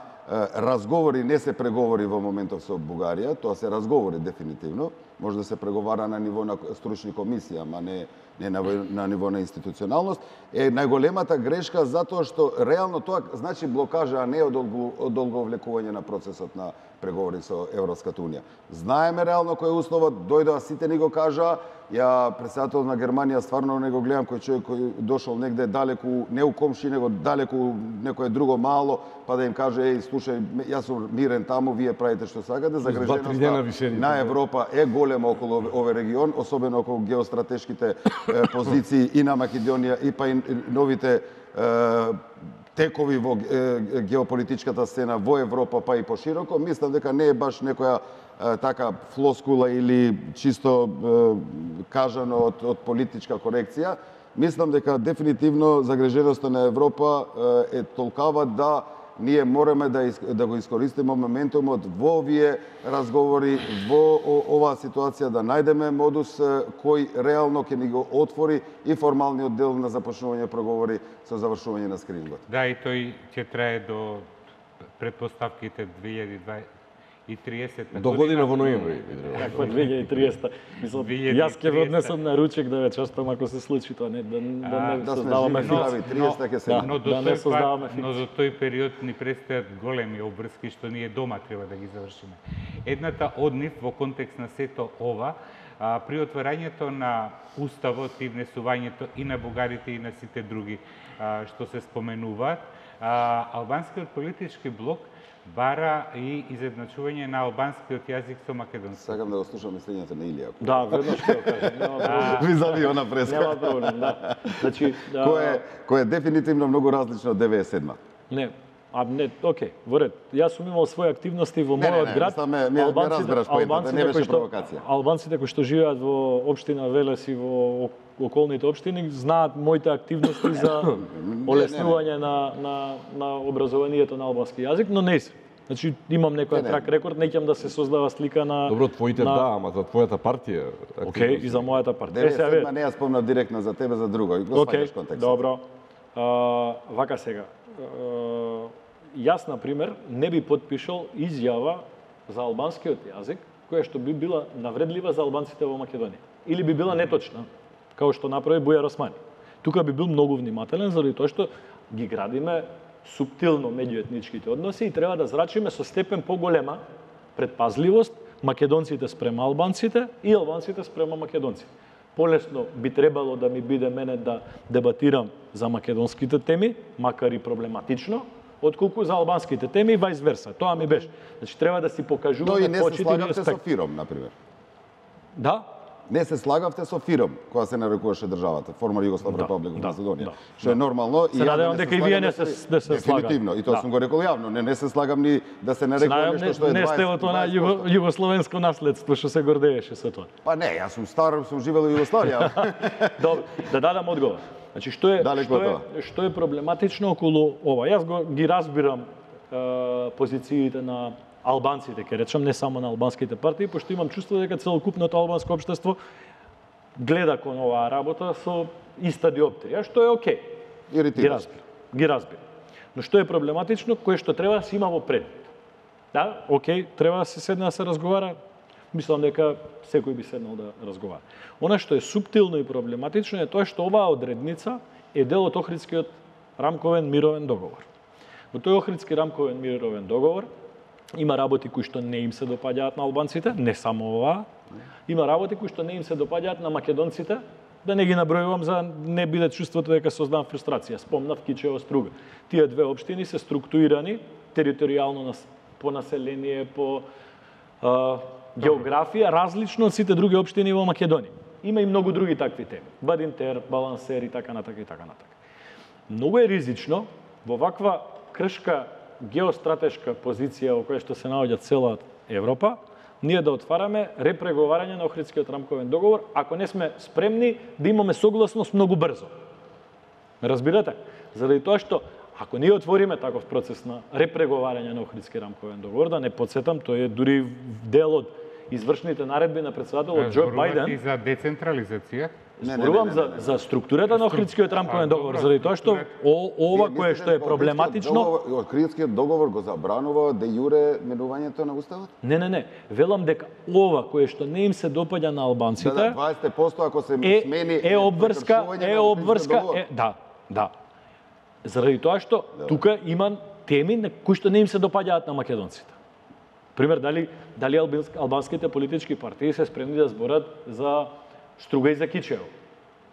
разговори не се преговори во моментов со Бугарија, тоа се разговори дефинитивно, може да се преговара на ниво на стручни комисии, ама не на ниво на институционалност, е најголемата грешка затоа што реално тоа значи блокажа, а не одолговлекување на процесот на преговори со Европската Унија. Знаеме реално кој е условот, дојдоа сите ни го кажаа, ја председател на Германија стварно не го гледам кој човек кој дошол негде далеку, не у комши, него далеку некое друго мало, па да им каже, еј, слушај, јас сум мирен таму, вие правите што сакате, загреженоста на Европа е голема околу овој регион, особено околу геостратешките позиции и на Македонија и па и новите текови во геополитичката сцена во Европа, па и пошироко. Мислам дека не е баш некоја така флоскула или чисто кажано од политичка корекција. Мислам дека дефинитивно загреженоста на Европа е толкава да ние мораме да го искористиме моментумот во овие разговори, во оваа ситуација, да најдеме модус кој реално ќе ни го отвори и формалниот дел на започнување преговори со завршување на скринингот. Да, и тој ќе трае до предпоставките 2030 до година во ноември. Како 2030. Мислам, јас ќе однесам на ручек да ве честам ако се случи тоа, не да создаваме фикс. Но до тој период ни предстојат големи обврски што ние дома треба да ги завршиме. Едната од нив во контекст на сето ова, при отварањето на уставот и внесувањето и на бугарите и на сите други што се споменуваат, албанскиот политички блок бара и изедначување на албанскиот јазик со македонски. Сакам да го слушам мислењето на Илија. Да, веднаш ќе го кажам. Нема проблем. Визави она преска. Нема проблем, да. Значи, Кој е дефинитивно многу различно од 97-ма. Не, окей, во ред. Јас сум имал своји активности во мојот град. Не разбираш поентата, не беше провокација. Албанците кои што живеат во општина Велес и во околните општини знаат моите активности за олеснување на образованието на албански јазик, но не се. Значи имам некој трак рекорд, неќам да се создава слика на Добро, твоите да, ама за твојата партија. Океј, и за мојата партија. 97-ма не ја спомнав директно за тебе, за друго. Го сваѓаш контекстот. Добро. Вака сега. Јас, например, не би подпишал изјава за албанскиот јазик, која што би била навредлива за албанците во Македонија. Или би била неточна, као што направи Бујар Османи. Тука би бил многу внимателен, заради тоа што ги градиме суптилно меѓуетничките односи и треба да зрачиме со степен поголема предпазливост македонците спрема албанците и албанците спрема македонците. Полесно би требало да ми биде мене да дебатирам за македонските теми, макар и проблематично, отколку за албанските теми и вајс верса. Тоа ми беше. Значи треба да си покажуваме почит и респект. Но и не се слагавте со Фиром, например. Да? Не се слагавте со Фиром, кога се нарекуваше државата, форма Југославна република Македонија. Што е нормално и надевам дека и вие не се слагате. Дефинитивно, и тоа сум го рекол јавно, не се слагам ни да се нарекува нешто што е 20%. Не сте во тоа југословенско наследство што се гордееше со тоа. Па не, јас сум стар, сум живел во Југославија. Добро, да дадам одговор. Значи што е проблематично околу ова? Јас ги разбирам позициите на албанците, ке речам, не само на албанските партии, пошто имам чувство дека целокупното албанско општество гледа кон оваа работа со иста диоптрија, што е окей. Ги разбирам. Но што е проблематично, кое што треба да се има во предвид. Да, окей, треба да се седне да се разговара. Мислам дека секој би седнал да разговара. Она што е суптилно и проблематично е тоа што оваа одредница е дел од Охридскиот рамковен мировен договор. Во тој Охридски рамковен мировен договор има работи кои што не им се допаѓаат на албанците, не само оваа. Има работи кои што не им се допаѓаат на македонците, да не ги набројувам за не биде чувството дека создавам фрустрација. Спомнав Кичево, Струга. Тие две општини се структурирани територијално по население, по географија, различно од сите други општини во Македонија. Има и многу други такви теми. Бадинтер, Балансер и така натака и така натака. Многу е ризично во ваква кршка геостратешка позиција во која што се наоѓа цела Европа, ние да отвараме репреговарање на Охридскиот рамковен договор, ако не сме спремни да имаме согласност многу брзо. Ме разбирате? Заради тоа што ако ние отвориме таков процес на репреговарање на Охридски рамковен договор, да не подсетам, тој е дури дел од извршните наредби на председателот Џо Бајден. И за децентрализација. Зборувам за структурата на Охридскиот рамковен договор, заради тоа што ова кое што е проблематично. Охридскиот договор го забранува де јуре менувањето на уставот? Не. Велам дека ова кое што не им се допаѓа на албанците. Да, 20% ако се смени е обврска, да. Заради тоа што тука има теми кои што не им се допаѓаат на македонците. Пример, дали албанските политички партии се спремни да зборат за Струга и за Кичево.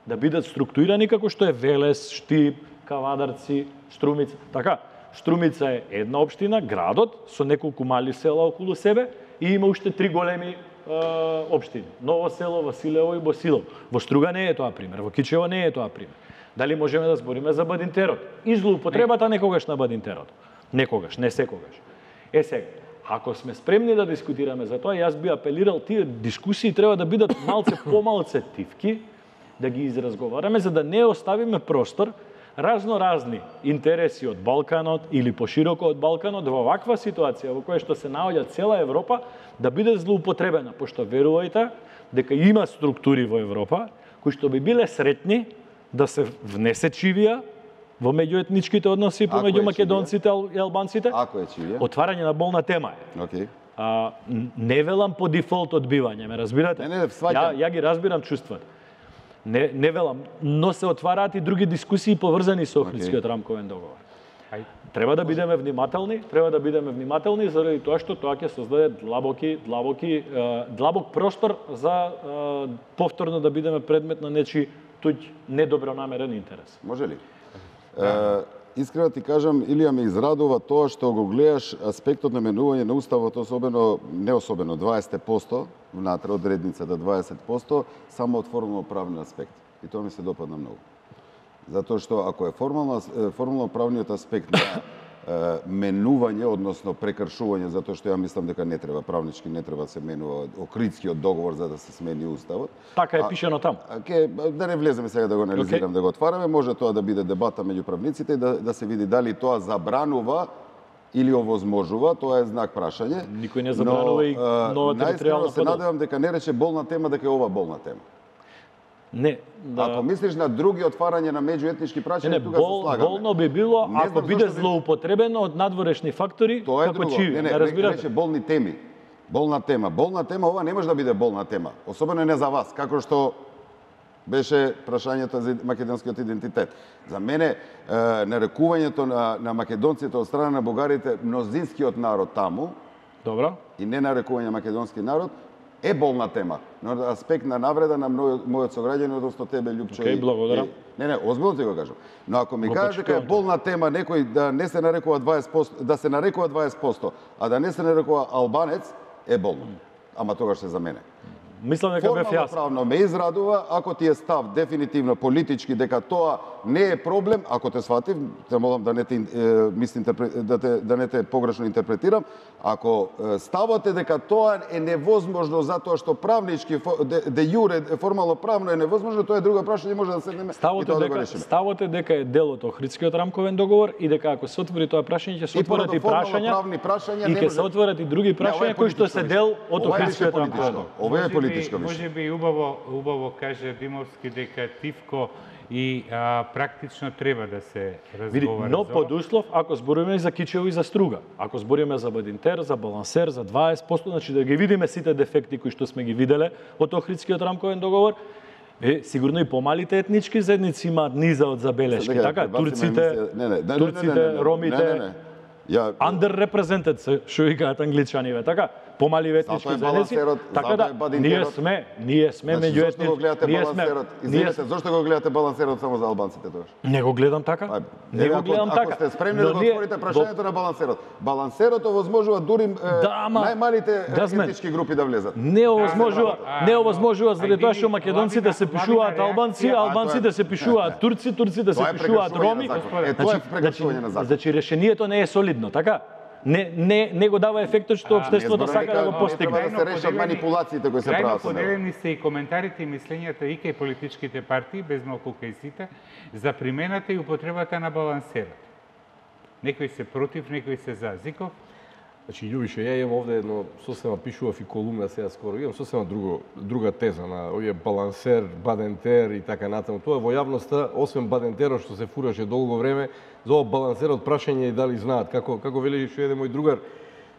Да бидат структурирани како што е Велес, Штип, Кавадарци, Струмица. Така, Струмица е една општина, градот, со неколку мали села околу себе и има уште 3 големи општини. Ново село, Василево и Босилово. Во Струга не е тоа пример, во Кичево не е тоа пример. Дали можеме да збориме за Бадинтерот? И злоупотребата некогаш на Бадинтерот. Некогаш, не секогаш. Сега, ако сме спремни да дискутираме за тоа, јас би апелирал тие дискусии треба да бидат малце помалце тивки, да ги изразговараме за да не оставиме простор разни интереси од Балканот или пошироко од Балканот во ваква ситуација во која што се наоѓа цела Европа да биде злоупотребена, пошто верувајте дека има структури во Европа кои што би биле сретни да се внесе чивија во меѓуетничките односи помеѓу македонците и албанците. Ако е чивија? Отварање на болна тема е. Океј. Не велам по дефолт одбивање, ме разбирате? Не, сваќам. Ја ги разбирам чувствата. Не велам, но се отвараат и други дискусии поврзани со Охридскиот рамковен договор. Треба да бидеме внимателни заради тоа што тоа ќе создаде длабок простор за повторно да бидеме предмет на нечи туѓ недобронамерен интерес. Може ли? Искрено ти кажам, Илија, ме израдува тоа што го гледаш аспектот на менување на уставот, не особено 20% внатре од редницата 20%, само од формално-правни аспект. И тоа ми се допадна многу. Затоа што ако е формално-правниот аспект на менување, односно прекршување, затоа што ја мислам дека не треба, правнички не треба да се менува Охридскиот договор за да се смени уставот. Така е пишено таму. Да не влеземе сега да го анализирам, да го отвараме, може тоа да биде дебата меѓу правниците и да се види дали тоа забранува или овозможува, тоа е знак прашање. Никој не забранува и новата територијална се надевам дека не рече болна тема, дека е ова болна тема. Не, Ако мислиш на други отварање на меѓуетнички прашања, тука се слагаме. Болно би било ако биде злоупотребено од надворешни фактори, како чиви. Не рече болни теми. Болна тема. Болна тема, ова не може да биде болна тема. Особено не за вас, како што беше прашањето за македонскиот идентитет. За мене, нарекувањето на македонците од страна на бугарите, мнозинскиот народ таму, добро, и не нарекување македонски народ, е болна тема, но аспект на навреда на мојот сограѓанин, односно тебе, Љупчо. Океј, благодарам. Не, озбилно ти го кажам. Но ако ми кажеш дека е болна тема некој да не се нарекува 20%, да се нарекува 20%, а да не се нарекува албанец, е болно. Ама тогаш се за мене. Мислам дека бев јасен. Правно ме израдува, ако ти е став дефинитивно политички дека тоа не е проблем, ако те сватив, те молам да не те погрешно интерпретирам, ако ставот е дека тоа е невозможно затоа што правнички де јуре формално правно е невозможно, тоа е друго прашање, може да седнеме и тоа да го решиме. Ставот е дека е дел од Охридскиот рамковен договор и дека ако се отвори тоа прашање ќе се отворат и прашања и ќе се отворат и други прашања кои што се дел од Охридскиот рамковен договор. Ова е политичко. Може би убаво каже Димовски дека Тивко и практично треба да се разговара. Но под услов ако зборуваме за кичево и за струга. Ако зборуваме за Бадинтер, за балансер, за 20%, значи да ги видиме сите дефекти кои што сме ги виделе од Охридскиот рамковен договор, сигурно и помалите етнички заедници имаат низа од забелешки, така? Турците, ромите, underrepresented, што викаат англичаниве, така? Помали етнички заедници, така да ние сме меѓу Извинете, зошто го гледате балансерот само за албанците тогаш? Не го гледам така. Не го гледам така. Ако сте спремни да го отворите прашањето на балансерот. Балансерот овозможува дури најмалите етнички групи да влезат. Не овозможува заради тоа што македонците се пишуваат албанци, албанците се пишуваат турци, турците се пишуваат роми. Тоа е прекршување на закон. Значи решението не е солидно, така? Не го дава ефектот што општеството сака да го постигне. Да се решат манипулациите кои се прават. Крајно поделени се и коментарите и мислењата и кај политичките партии, без малку кај сите, за примената и употребата на балансерот. Некои се против, некои се за. Зиков? Значи, Љубише, ја имам овде едно сосема пишував и колумна сега скоро, имам сосема друга теза на овие балансер, бадентер и така натаму. Тоа во јавноста, освен бадентерот што се фураше долго време, за ова балансерот прашање и дали знаат. Како вели што еден мој другар,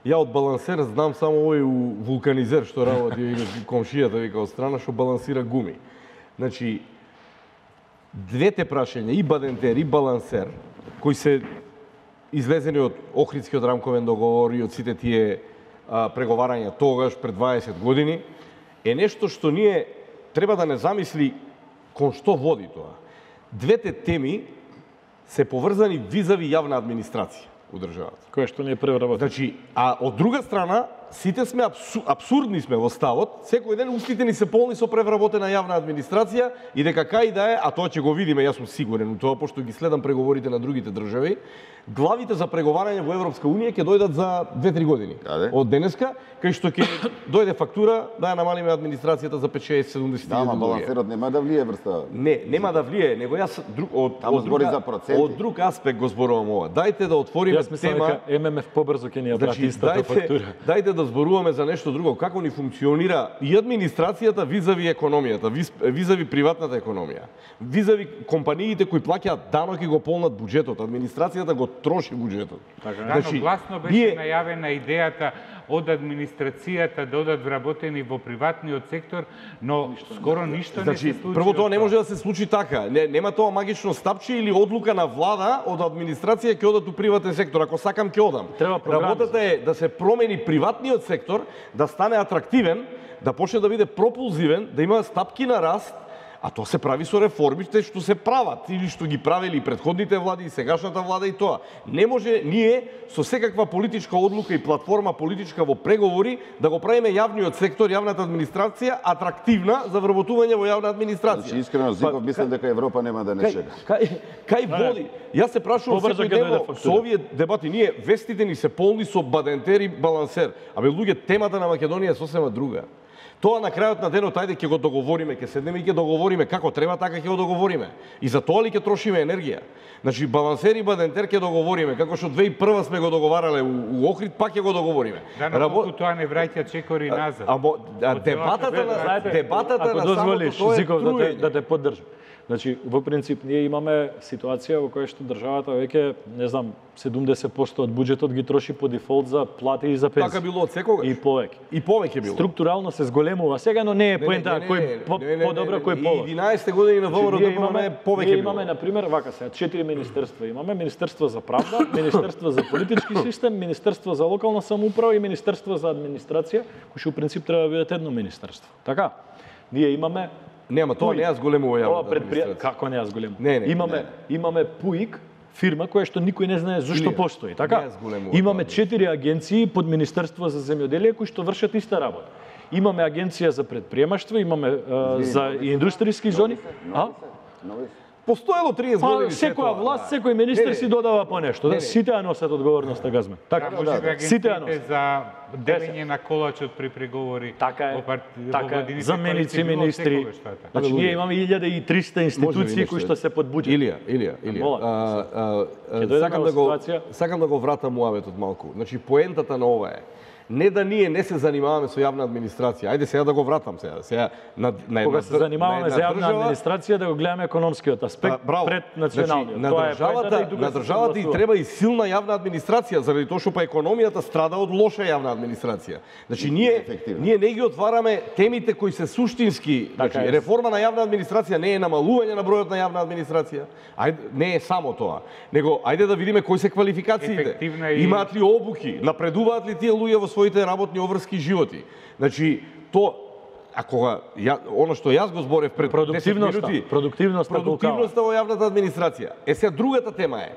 ја од балансер знам само овој вулканизер што работи комшијата вика од страна што балансира гуми. Значи, двете прашања, и бадентер и балансер, кои се излезени од Охридскиот рамковен договор и од сите тие преговарања тогаш пред 20 години, е нешто што ние треба да не замисли кон што води тоа. Двете теми се поврзани визави јавна администрација у државата. Кое што не е преработено. Значи, а од друга страна, сите сме абсурдни сме во ставот, секој ден устите ни се полни со превработена јавна администрација и дека кај да е, а тоа ќе го видиме, јас сум сигурен у тоа, пошто ги следам преговорите на другите држави, главите за преговарање во Европска Унија ќе дојдат за 2-3 години. Од денеска, кај што ќе дојде фактура да ја намалиме администрацијата за 5-6-70 Да, ама балансерот нема да влие врста. Не, нема да влие, него јас од друг аспект го зборувам ова. Дајте да отвориме тема. Јас мислам дека ММФ побрзо ќе ни ја прати истата фактура. Дајте да зборуваме за нешто друго, како ни функционира и администрацијата визави економијата, визави приватната економија, визави компаниите кои плаќаат данок и го полнат буџетот, администрацијата го троши буџетот. Значи, гласно беше најавена идејата од администрацијата да одат вработени во приватниот сектор, но скоро ништо не се случи. Прво тоа не може да се случи така. Нема тоа магично стапче или одлука на влада од администрација ќе одат у приватен сектор. Ако сакам ќе одам. Работата е да се промени приватниот сектор, да стане атрактивен, да почне да биде пропулзивен, да има стапки на раст, А тоа се прави со реформите што се прават или што ги правели предходните влади и сегашната влада и тоа. Не може ние со секаква политичка одлука и платформа политичка во преговори да го правиме јавниот сектор, јавната администрација атрактивна за вработување во јавна администрација. Значи искрено Зиков мислам дека Европа нема да не чека. Кај води? Јас се прашувам секој ден со овие дебати, ние вестите ни се полни со бадентер и балансер. Абе луѓе, темата на Македонија е сосема друга. Тоа на крајот на денот, ајде ќе го договориме, ќе седнеме и ќе договориме како треба, така ќе го договориме. И за тоа ли ќе трошиме енергија? Значи балансер и бадентер ќе договориме, како што 2001 сме го договарале у Охрид, пак ќе го договориме. Да, но колку тоа не враќа чекори назад. Дебатата на ако дозволиш, Зиков, да те поддржам. Значи, во принцип, ние имаме ситуација во која што државата веќе, не знам, 70% од буџетот ги троши по дефолт за плати и за пенсии. Така било од секогаш. И повеќе. И повеќе било. Структурално се зголемува сега, но не е поента кој подобро, кој полош. 11 години на ВМРО имаме повеќе било. Имаме, например, вака сега, 4 министерства имаме. Министерство за правда, Министерство за политички систем, Министерство за локална самоуправа и Министерство за администрација, кои што у принцип треба да бидат едно министерство. Така? Ние имаме Нема, тоа не ја зголемува јавната администрација. Како не ја зголемува? Не. Имаме ПУИК, фирма која што никој не знае зашто постои, така? Не ја зголемува. Имаме 4 агенции под Министерство за земјоделие кои што вршат иста работа. Имаме агенција за предприемаштво, имаме за индустријски зони. Постоело 30 години. Секоја власт, секој министер си додава по нешто. Сите ја носат одговорноста, газме. Така, сите ја носат. За делење на колачот при преговори. Така е. Заменици министри. Значи ние имаме 1300 институции кои што се под буџет. Илија. Сакам да го вратам муаветот малку. Значи поентата на ова е не да ние не се занимаваме со јавна администрација. Ајде сега да го вратам сега. Кога се занимаваме за јавна администрација, да го гледаме економскиот аспект пред националниот. На државата и треба и силна јавна администрација, заради тоа што па економијата страда од лоша јавна администрација. Значи ние не ги отвараме темите кои се суштински, значи реформа на јавна администрација не е намалување на бројот на јавна администрација. Ајде, не е само тоа. Него ајде да видиме кои се квалификациите. Имаат ли обуки, напредуваат ли тие луѓе во своите работни обврски животи. Значи, оно што јас го зборев пред 10 минути, продуктивноста во јавната администрација. Сега другата тема е,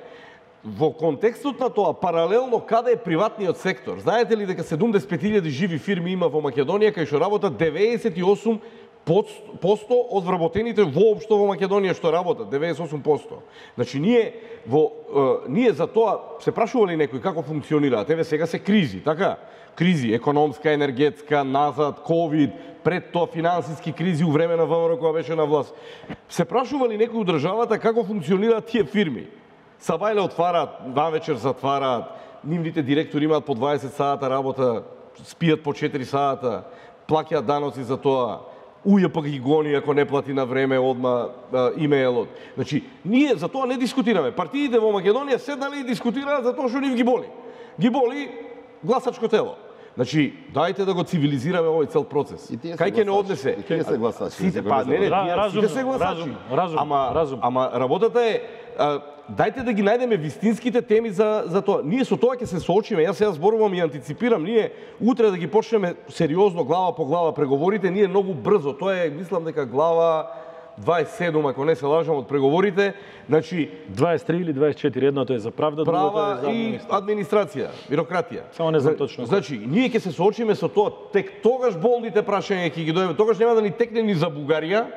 во контекстот на тоа, паралелно каде е приватниот сектор. Знаете ли дека 75.000 живи фирми има во Македонија, кај што работат 98% од вработените воопшто во Македонија што работат, 98%. Значи ние за тоа се прашували некои како функционираат. Еве сега се кризи, така? Кризи економска, енергетска, назад, ковид, пред тоа финансиски кризи у време на ВМРО кога беше на власт. Се прашували некои од државата како функционираат тие фирми. Сабајле отвараат, навечер затвараат, нивните директори имаат по 20 сата работа, спијат по 4 сата, плаќаат даноци за тоа. УЈП ги гони ако не плати на време одма имејлот. Значи, ние за тоа не дискутираме. Партиите во Македонија седнале и дискутираат за тоа што нив ги боли. Ги боли гласачко тело. Значи, дајте да го цивилизираме овој цел процес. Кај ќе не однесе? И тие се гласачи. Сите се гласачи. Ама работата е, дајте да ги најдеме вистинските теми за тоа. Ние со тоа ќе се соочиме. Јас сега зборувам и антиципирам. Ние утре да ги почнеме сериозно глава по глава преговорите, ние многу брзо. Тоа е, мислам дека глава 27, ако не се лажам, од преговорите. Значи 23 или 24, едното е за правда, другото е за и администрација, бирократија. Само не знам точно. Значи, ние ќе се соочиме со тоа, тек тогаш болните прашања ќе ги дојдеме. Тогаш нема да ни текне ни за Бугарија,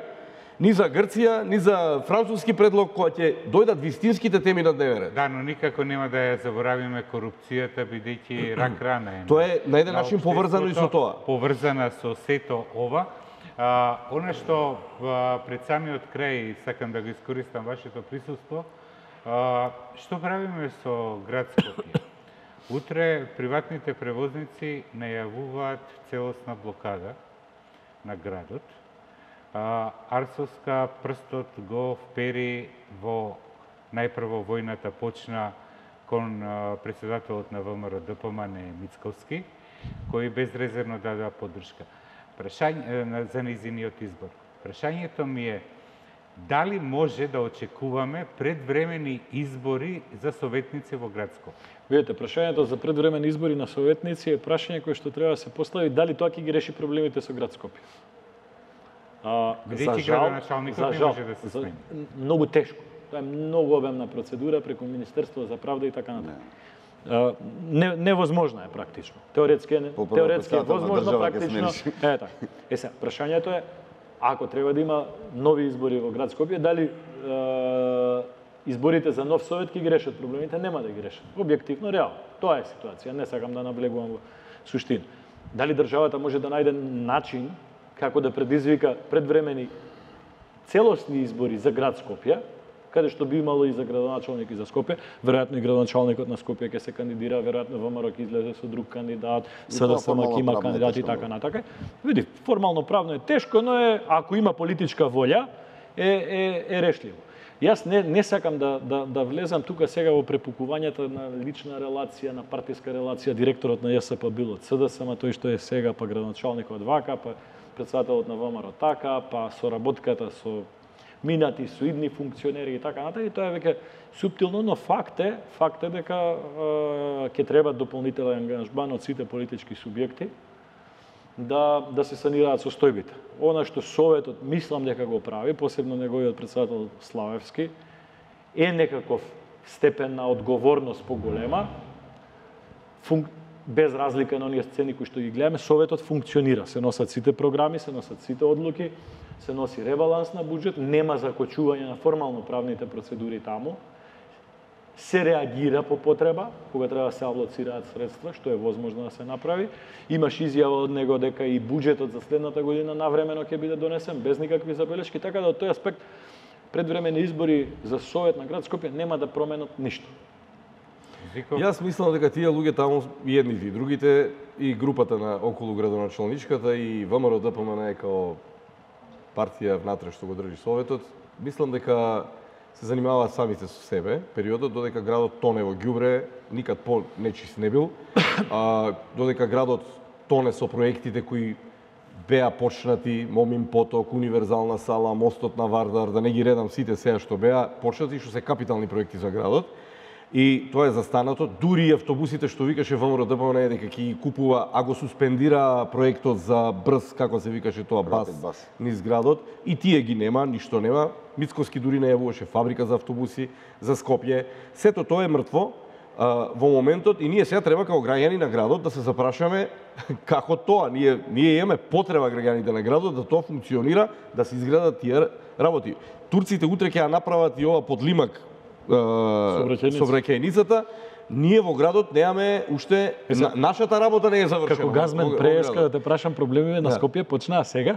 ни за Грција, ни за француски предлог, која ќе дојдат вистинските теми на дневен ред. Да, но никако нема да ја заборавиме корупцијата, бидејќи рак рана е. Тоа е на еден начин поврзано и со тоа. Поврзана со сето ова. Она што пред самиот крај сакам да го искористам вашето присуство, што правиме со град Скопје? Утре приватните превозници најавуваат целосна блокада на градот. Арсовска прстот го впери во најпрво војната почна кон председателот на ВМРО ДПМН Мицковски, кој безрезервно дадува поддршка за низиниот избор. Прашањето ми е дали може да очекуваме предвремени избори за советници во град Скопје? Видете, прашањето за предвремени избори на советници е прашање кое што треба да се постави дали тоа ќе ги реши проблемите со град Скопје. Бидејќи градоначалникот не може да се смени. Многу тешко. Тоа е многу обемна процедура преку Министерство за правда и така натаму. Невозможно е практично. Теоретски е возможно, практично. Така. Сега, прашањето е, ако треба да има нови избори во град Скопје, дали изборите за нов совет ќе ги решат проблемите? Нема да ги решат. Објективно, реално. Тоа е ситуација. Не сакам да наблегувам во суштина. Дали државата може да најде начин како да предизвика предвремени целосни избори за град Скопје, каде што би имало и за градоначалник и за Скопје, веројатно и градоначалникот на Скопје ќе се кандидира, веројатно ВМРО ќе излезе со друг кандидат, СДСМ ќе има кандидати и така натака. Види, формално правно е тешко, но ако има политичка волја, е решливо. Јас не сакам да влезам тука сега во препукувањата на лична релација, на партиска релација. Директорот на ЈСП бил од СДСМ, тој што е сега, па градоначалникот вака, па председателот на ВМРО така, па соработката со минати, со идни функционери и така натаму. И тоа е веќе суптилно, но факт е дека ќе треба дополнителен ангажман од сите политички субјекти да се санираат состојбите. Она што Советот мислам дека го прави, посебно неговиот председател Славевски, е некаков степен на одговорност поголема, без разлика на оние сцени кои што ги гледаме. Советот функционира, се носат сите програми, се носат сите одлуки, се носи ребаланс на буџет, нема закочување на формално правните процедури таму, се реагира по потреба, кога треба да се алоцираат средства, што е возможно да се направи. Имаш изјава од него дека и буџетот за следната година навремено ќе биде донесен, без никакви забелешки, така да од тој аспект предвремени избори за Совет на град Скопје нема да променат ништо. Јас мислам дека тие луѓе таму, и едните и другите, и групата на околу градоначалничката, и ВМРО ДПМН као партија внатре што го држи Советот, мислам дека се занимаваат самите со себе, периодот додека градот тоне во ѓубре, никад по-нечист не бил, додека градот тоне со проектите кои беа почнати, Момин поток, универзална сала, мостот на Вардар, да не ги редам сите сега што беа почнати, што се капитални проекти за градот. И тоа е застанато, дури и автобусите што викаше ВМРО ДПМН дека ќе ги купува, а го суспендира проектот за брз, како се викаше тоа, бас низ градот, и тие ги нема, ништо нема. Мицкоски дури не јавуваше фабрика за автобуси за Скопје. Сето тоа е мртво во моментот и ние сега треба како граѓани на градот да се запрашаме како тоа. Ние имаме потреба граѓаните на градот да тоа функционира, да се изградат тие работи. Турците утре ќе ја направат и ова подлимак сообраќајницата. Ние во градот немаме уште, нашата работа не е завршена. Како газмен преска, да те прашам, проблемите на Скопје почнаа сега?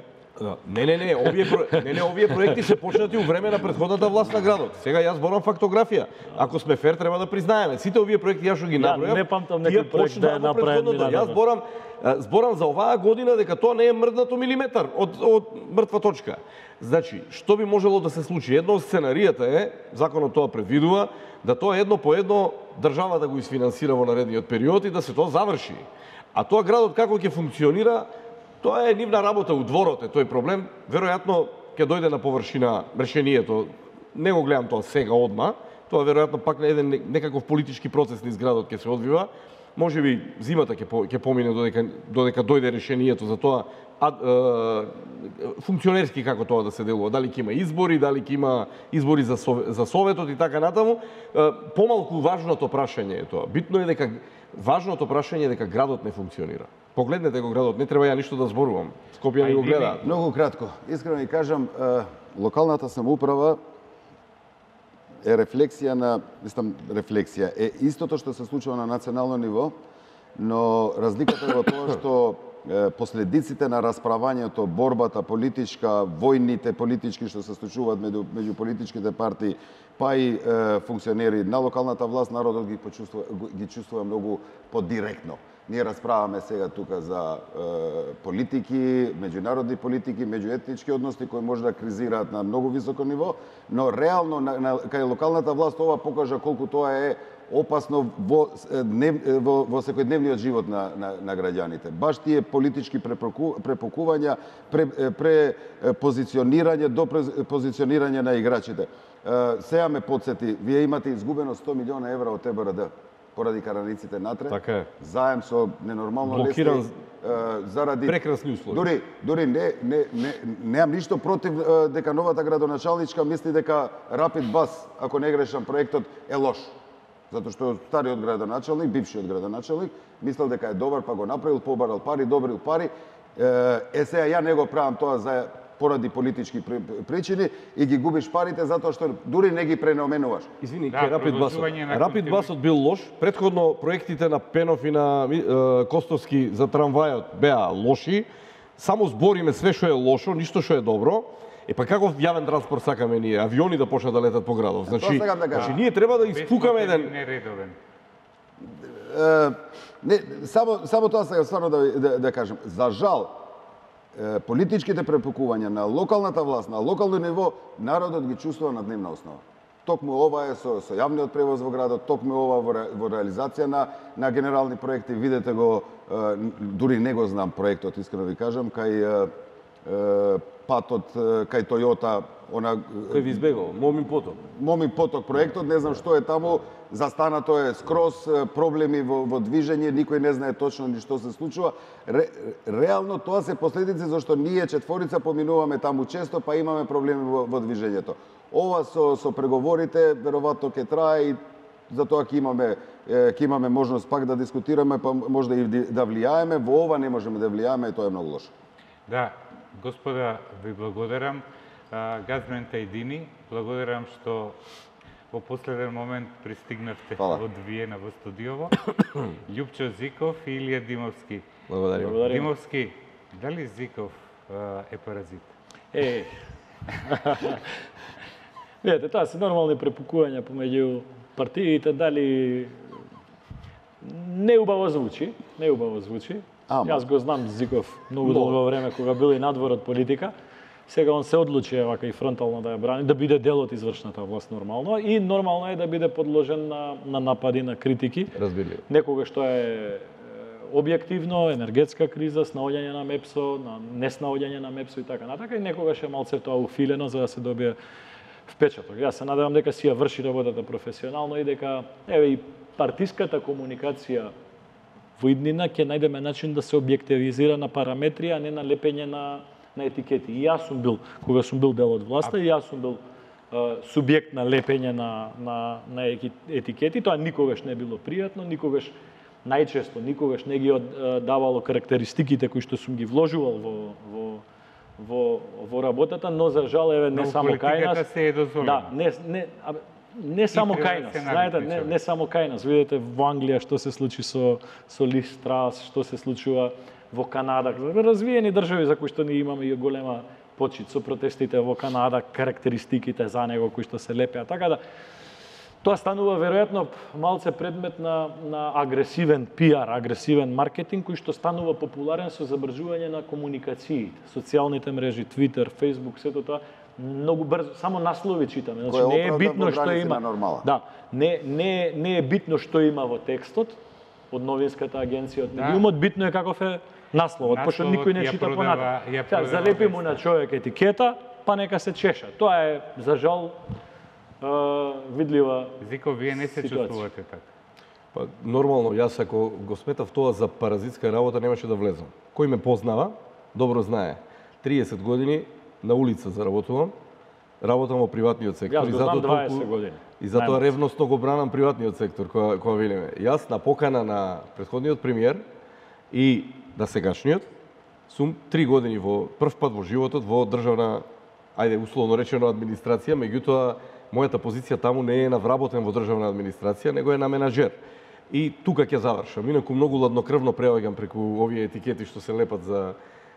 Не, овие проекти се почнати у време на претходната власт на градот. Сега јас зборам фактографија. Ако сме фер, треба да признаеме. Сите овие проекти јас што ги набројав, не памтам некој проект да е направен. Јас зборам за оваа година дека тоа не е мрднато милиметар од мртва точка. Значи, што би можело да се случи? Едно од сценаријата е, законот тоа предвидува, да тоа едно по едно државата го изфинансира во наредниот период и да се тоа заврши. А тоа градот како ќе функционира, тоа е нивна работа у дворот, е тој проблем. Веројатно ќе дојде на површина решението. Не го гледам тоа сега одма. Тоа веројатно пак еден некаков политички процес низ градот ќе се одвива. Можеби зимата ќе помине додека дојде решението за тоа функционерски како тоа да се делува. Дали ќе има избори, дали ќе има избори за Советот и така натаму. Помалку важното прашање е тоа. Битно е дека важното прашање е дека градот не функционира. Погледнете го градот, не треба ја ништо да зборувам. Скопје не го гледа. Многу кратко. Искрено ви кажам, локалната самоуправа е рефлексија е истото што се случува на национално ниво, но разликата е во тоа што последиците на расправањето, борбата политичка, војните политички што се случуваат меѓу политичките партии, па и функционери на локалната власт, народот ги чувствува многу подиректно. Ние расправаме сега тука за политики, меѓународни политики, меѓуетнички односи кои може да кризираат на многу високо ниво, но реално кај локалната власт ова покажа колку тоа е опасно во секојдневниот живот на граѓаните. Баш тие политички препокувања, препозиционирање до позиционирање на играчите. Сега ме подсети, вие имате изгубено 100 милиона евра од ТБРД. поради караниците натре. Така е. Заем со ненормално Блокиран заради прекрасни услови. Дури немам ништо против дека новата градоначалничка мисли дека Rapid Bus, ако не грешам проектот, е лош. Затоа што стариот градоначалник, бившиот градоначалник, мислел дека е добар, па го направил, побарал пари, добрил пари. Сега ја не го правам тоа поради политички причини и ги губиш парите затоа што дури не ги пренаменуваш. Извини, Да, Rapid Bus бил лош. Претходно проектите на Пенов и на Костовски за трамвајот беа лоши. Само збориме све што е лошо, ништо што е добро. Па каков јавен транспорт сакаме ние? Авиони да почнат да летат по градов. Значи ние треба да испукаме еден нередовен. Само тоа сега стварно да кажем. За жал, политичките препукувања на локалната власт, на локално ниво, народот ги чувствува на дневна основа. Токму ова е со јавниот превоз во градот, токму ова во реализација на генерални проекти. Видете го, дури не го знам проектот, искрено ви кажам, кај патот, кај Тојота, кој ви избегал, Момин поток проектот, не знам што е таму, застанато е скроз, проблеми во движење, никој не знае точно ни што се случува. Реално тоа се последици зашто ние четворица поминуваме таму често, па имаме проблеми во движењето. Ова со преговорите веројатно ќе трае и затоа ќе имаме можност пак да дискутираме, па може и да влијаеме. Во ова не можеме да влијаеме и тоа е многу лошо. Да, господа, ви благодарам. Газмен Тајдини, благодарам што во последен момент пристигнавте од Виена во студиово. Љупчо Зиков и Илија Димовски. Благодарим. Димовски, дали Зиков е паразит? Видете, тоа се нормални препукувања помеѓу партиите, дали неубаво звучи. Јас го знам Зиков многу долго време кога бил и надвор од политика. Сега он се одлучи вака и фронтално да ја брани, да биде дел од извршната власт нормално и нормално е да биде подложен на напади, на критики. Разбирливо. Некогаш тоа е објективно, енергетска криза, снаоѓање на МЕПСО, на неснаоѓање на МЕПСО и така натака, и некогаш е малце тоа уфилено за да се добие впечаток. Јас се надевам дека си ја врши работата професионално и дека и партиската комуникација во иднина ќе најдеме начин да се објективизира на параметри, а не на лепење на етикети. И јас сум бил, кога сум бил дел од власта, и јас сум бил субјект на лепење на етикети. Тоа никогаш не било пријатно, најчесто никогаш не ги давало карактеристиките кои што сум ги вложувал во работата, но за жал не само кај нас. Да, не само кај нас, знаете, не само кај нас. Видете во Англија што се случи со Лис Трас, што се случува во Канада, развиени држави за кои што ние имаме и голема почит со протестите во Канада, карактеристиките за него кои што се лепеа. Така да тоа станува веројатно малце предмет на агресивен пиар, агресивен маркетинг кој што станува популарен со забрзување на комуникациите, социјалните мрежи, Твитер, Фејсбук, сето тоа многу брзо, само наслови читаме. Значи не е битно што има. Да, не е битно што има во текстот од новинската агенција, од медиумот, битно е каков е насловот, пошто никој не чита понатаму. Залепи му на човек етикета, па нека се чеша. Тоа е за жал видлива ситуација. Зико, вие не се чувствувате така? Па нормално, јас ако го сметав тоа за паразитска работа немаше да влезам. Кој ме познава, добро знае. 30 години на улица заработувам, работам во приватниот сектор. Јас го знам 20 години. И затоа ревносно го бранам приватниот сектор, кога велиме. Јас на покана на претходниот премиер и на сегашниот сум 3 години прв пат во животот во државна, ајде условно речено администрација, меѓутоа мојата позиција таму не е на вработен во државна администрација, него е на менаџер. И тука ќе завршам. Инаку многу ладнокрвно преоѓам преку овие етикети што се лепат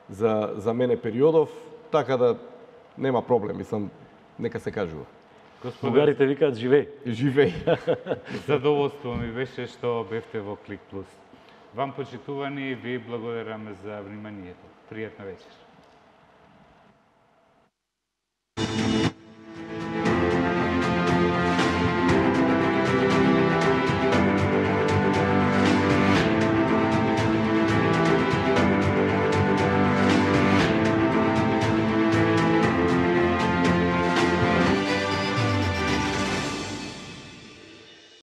за мене периодов, така да нема проблем, мислам, нека се кажува. Бугарите викаат живеј. Живеј. Задоволство ми беше што бевте во Клик Плюс. Вам почитувани, ви благодараме за вниманието. Пријатна вечер.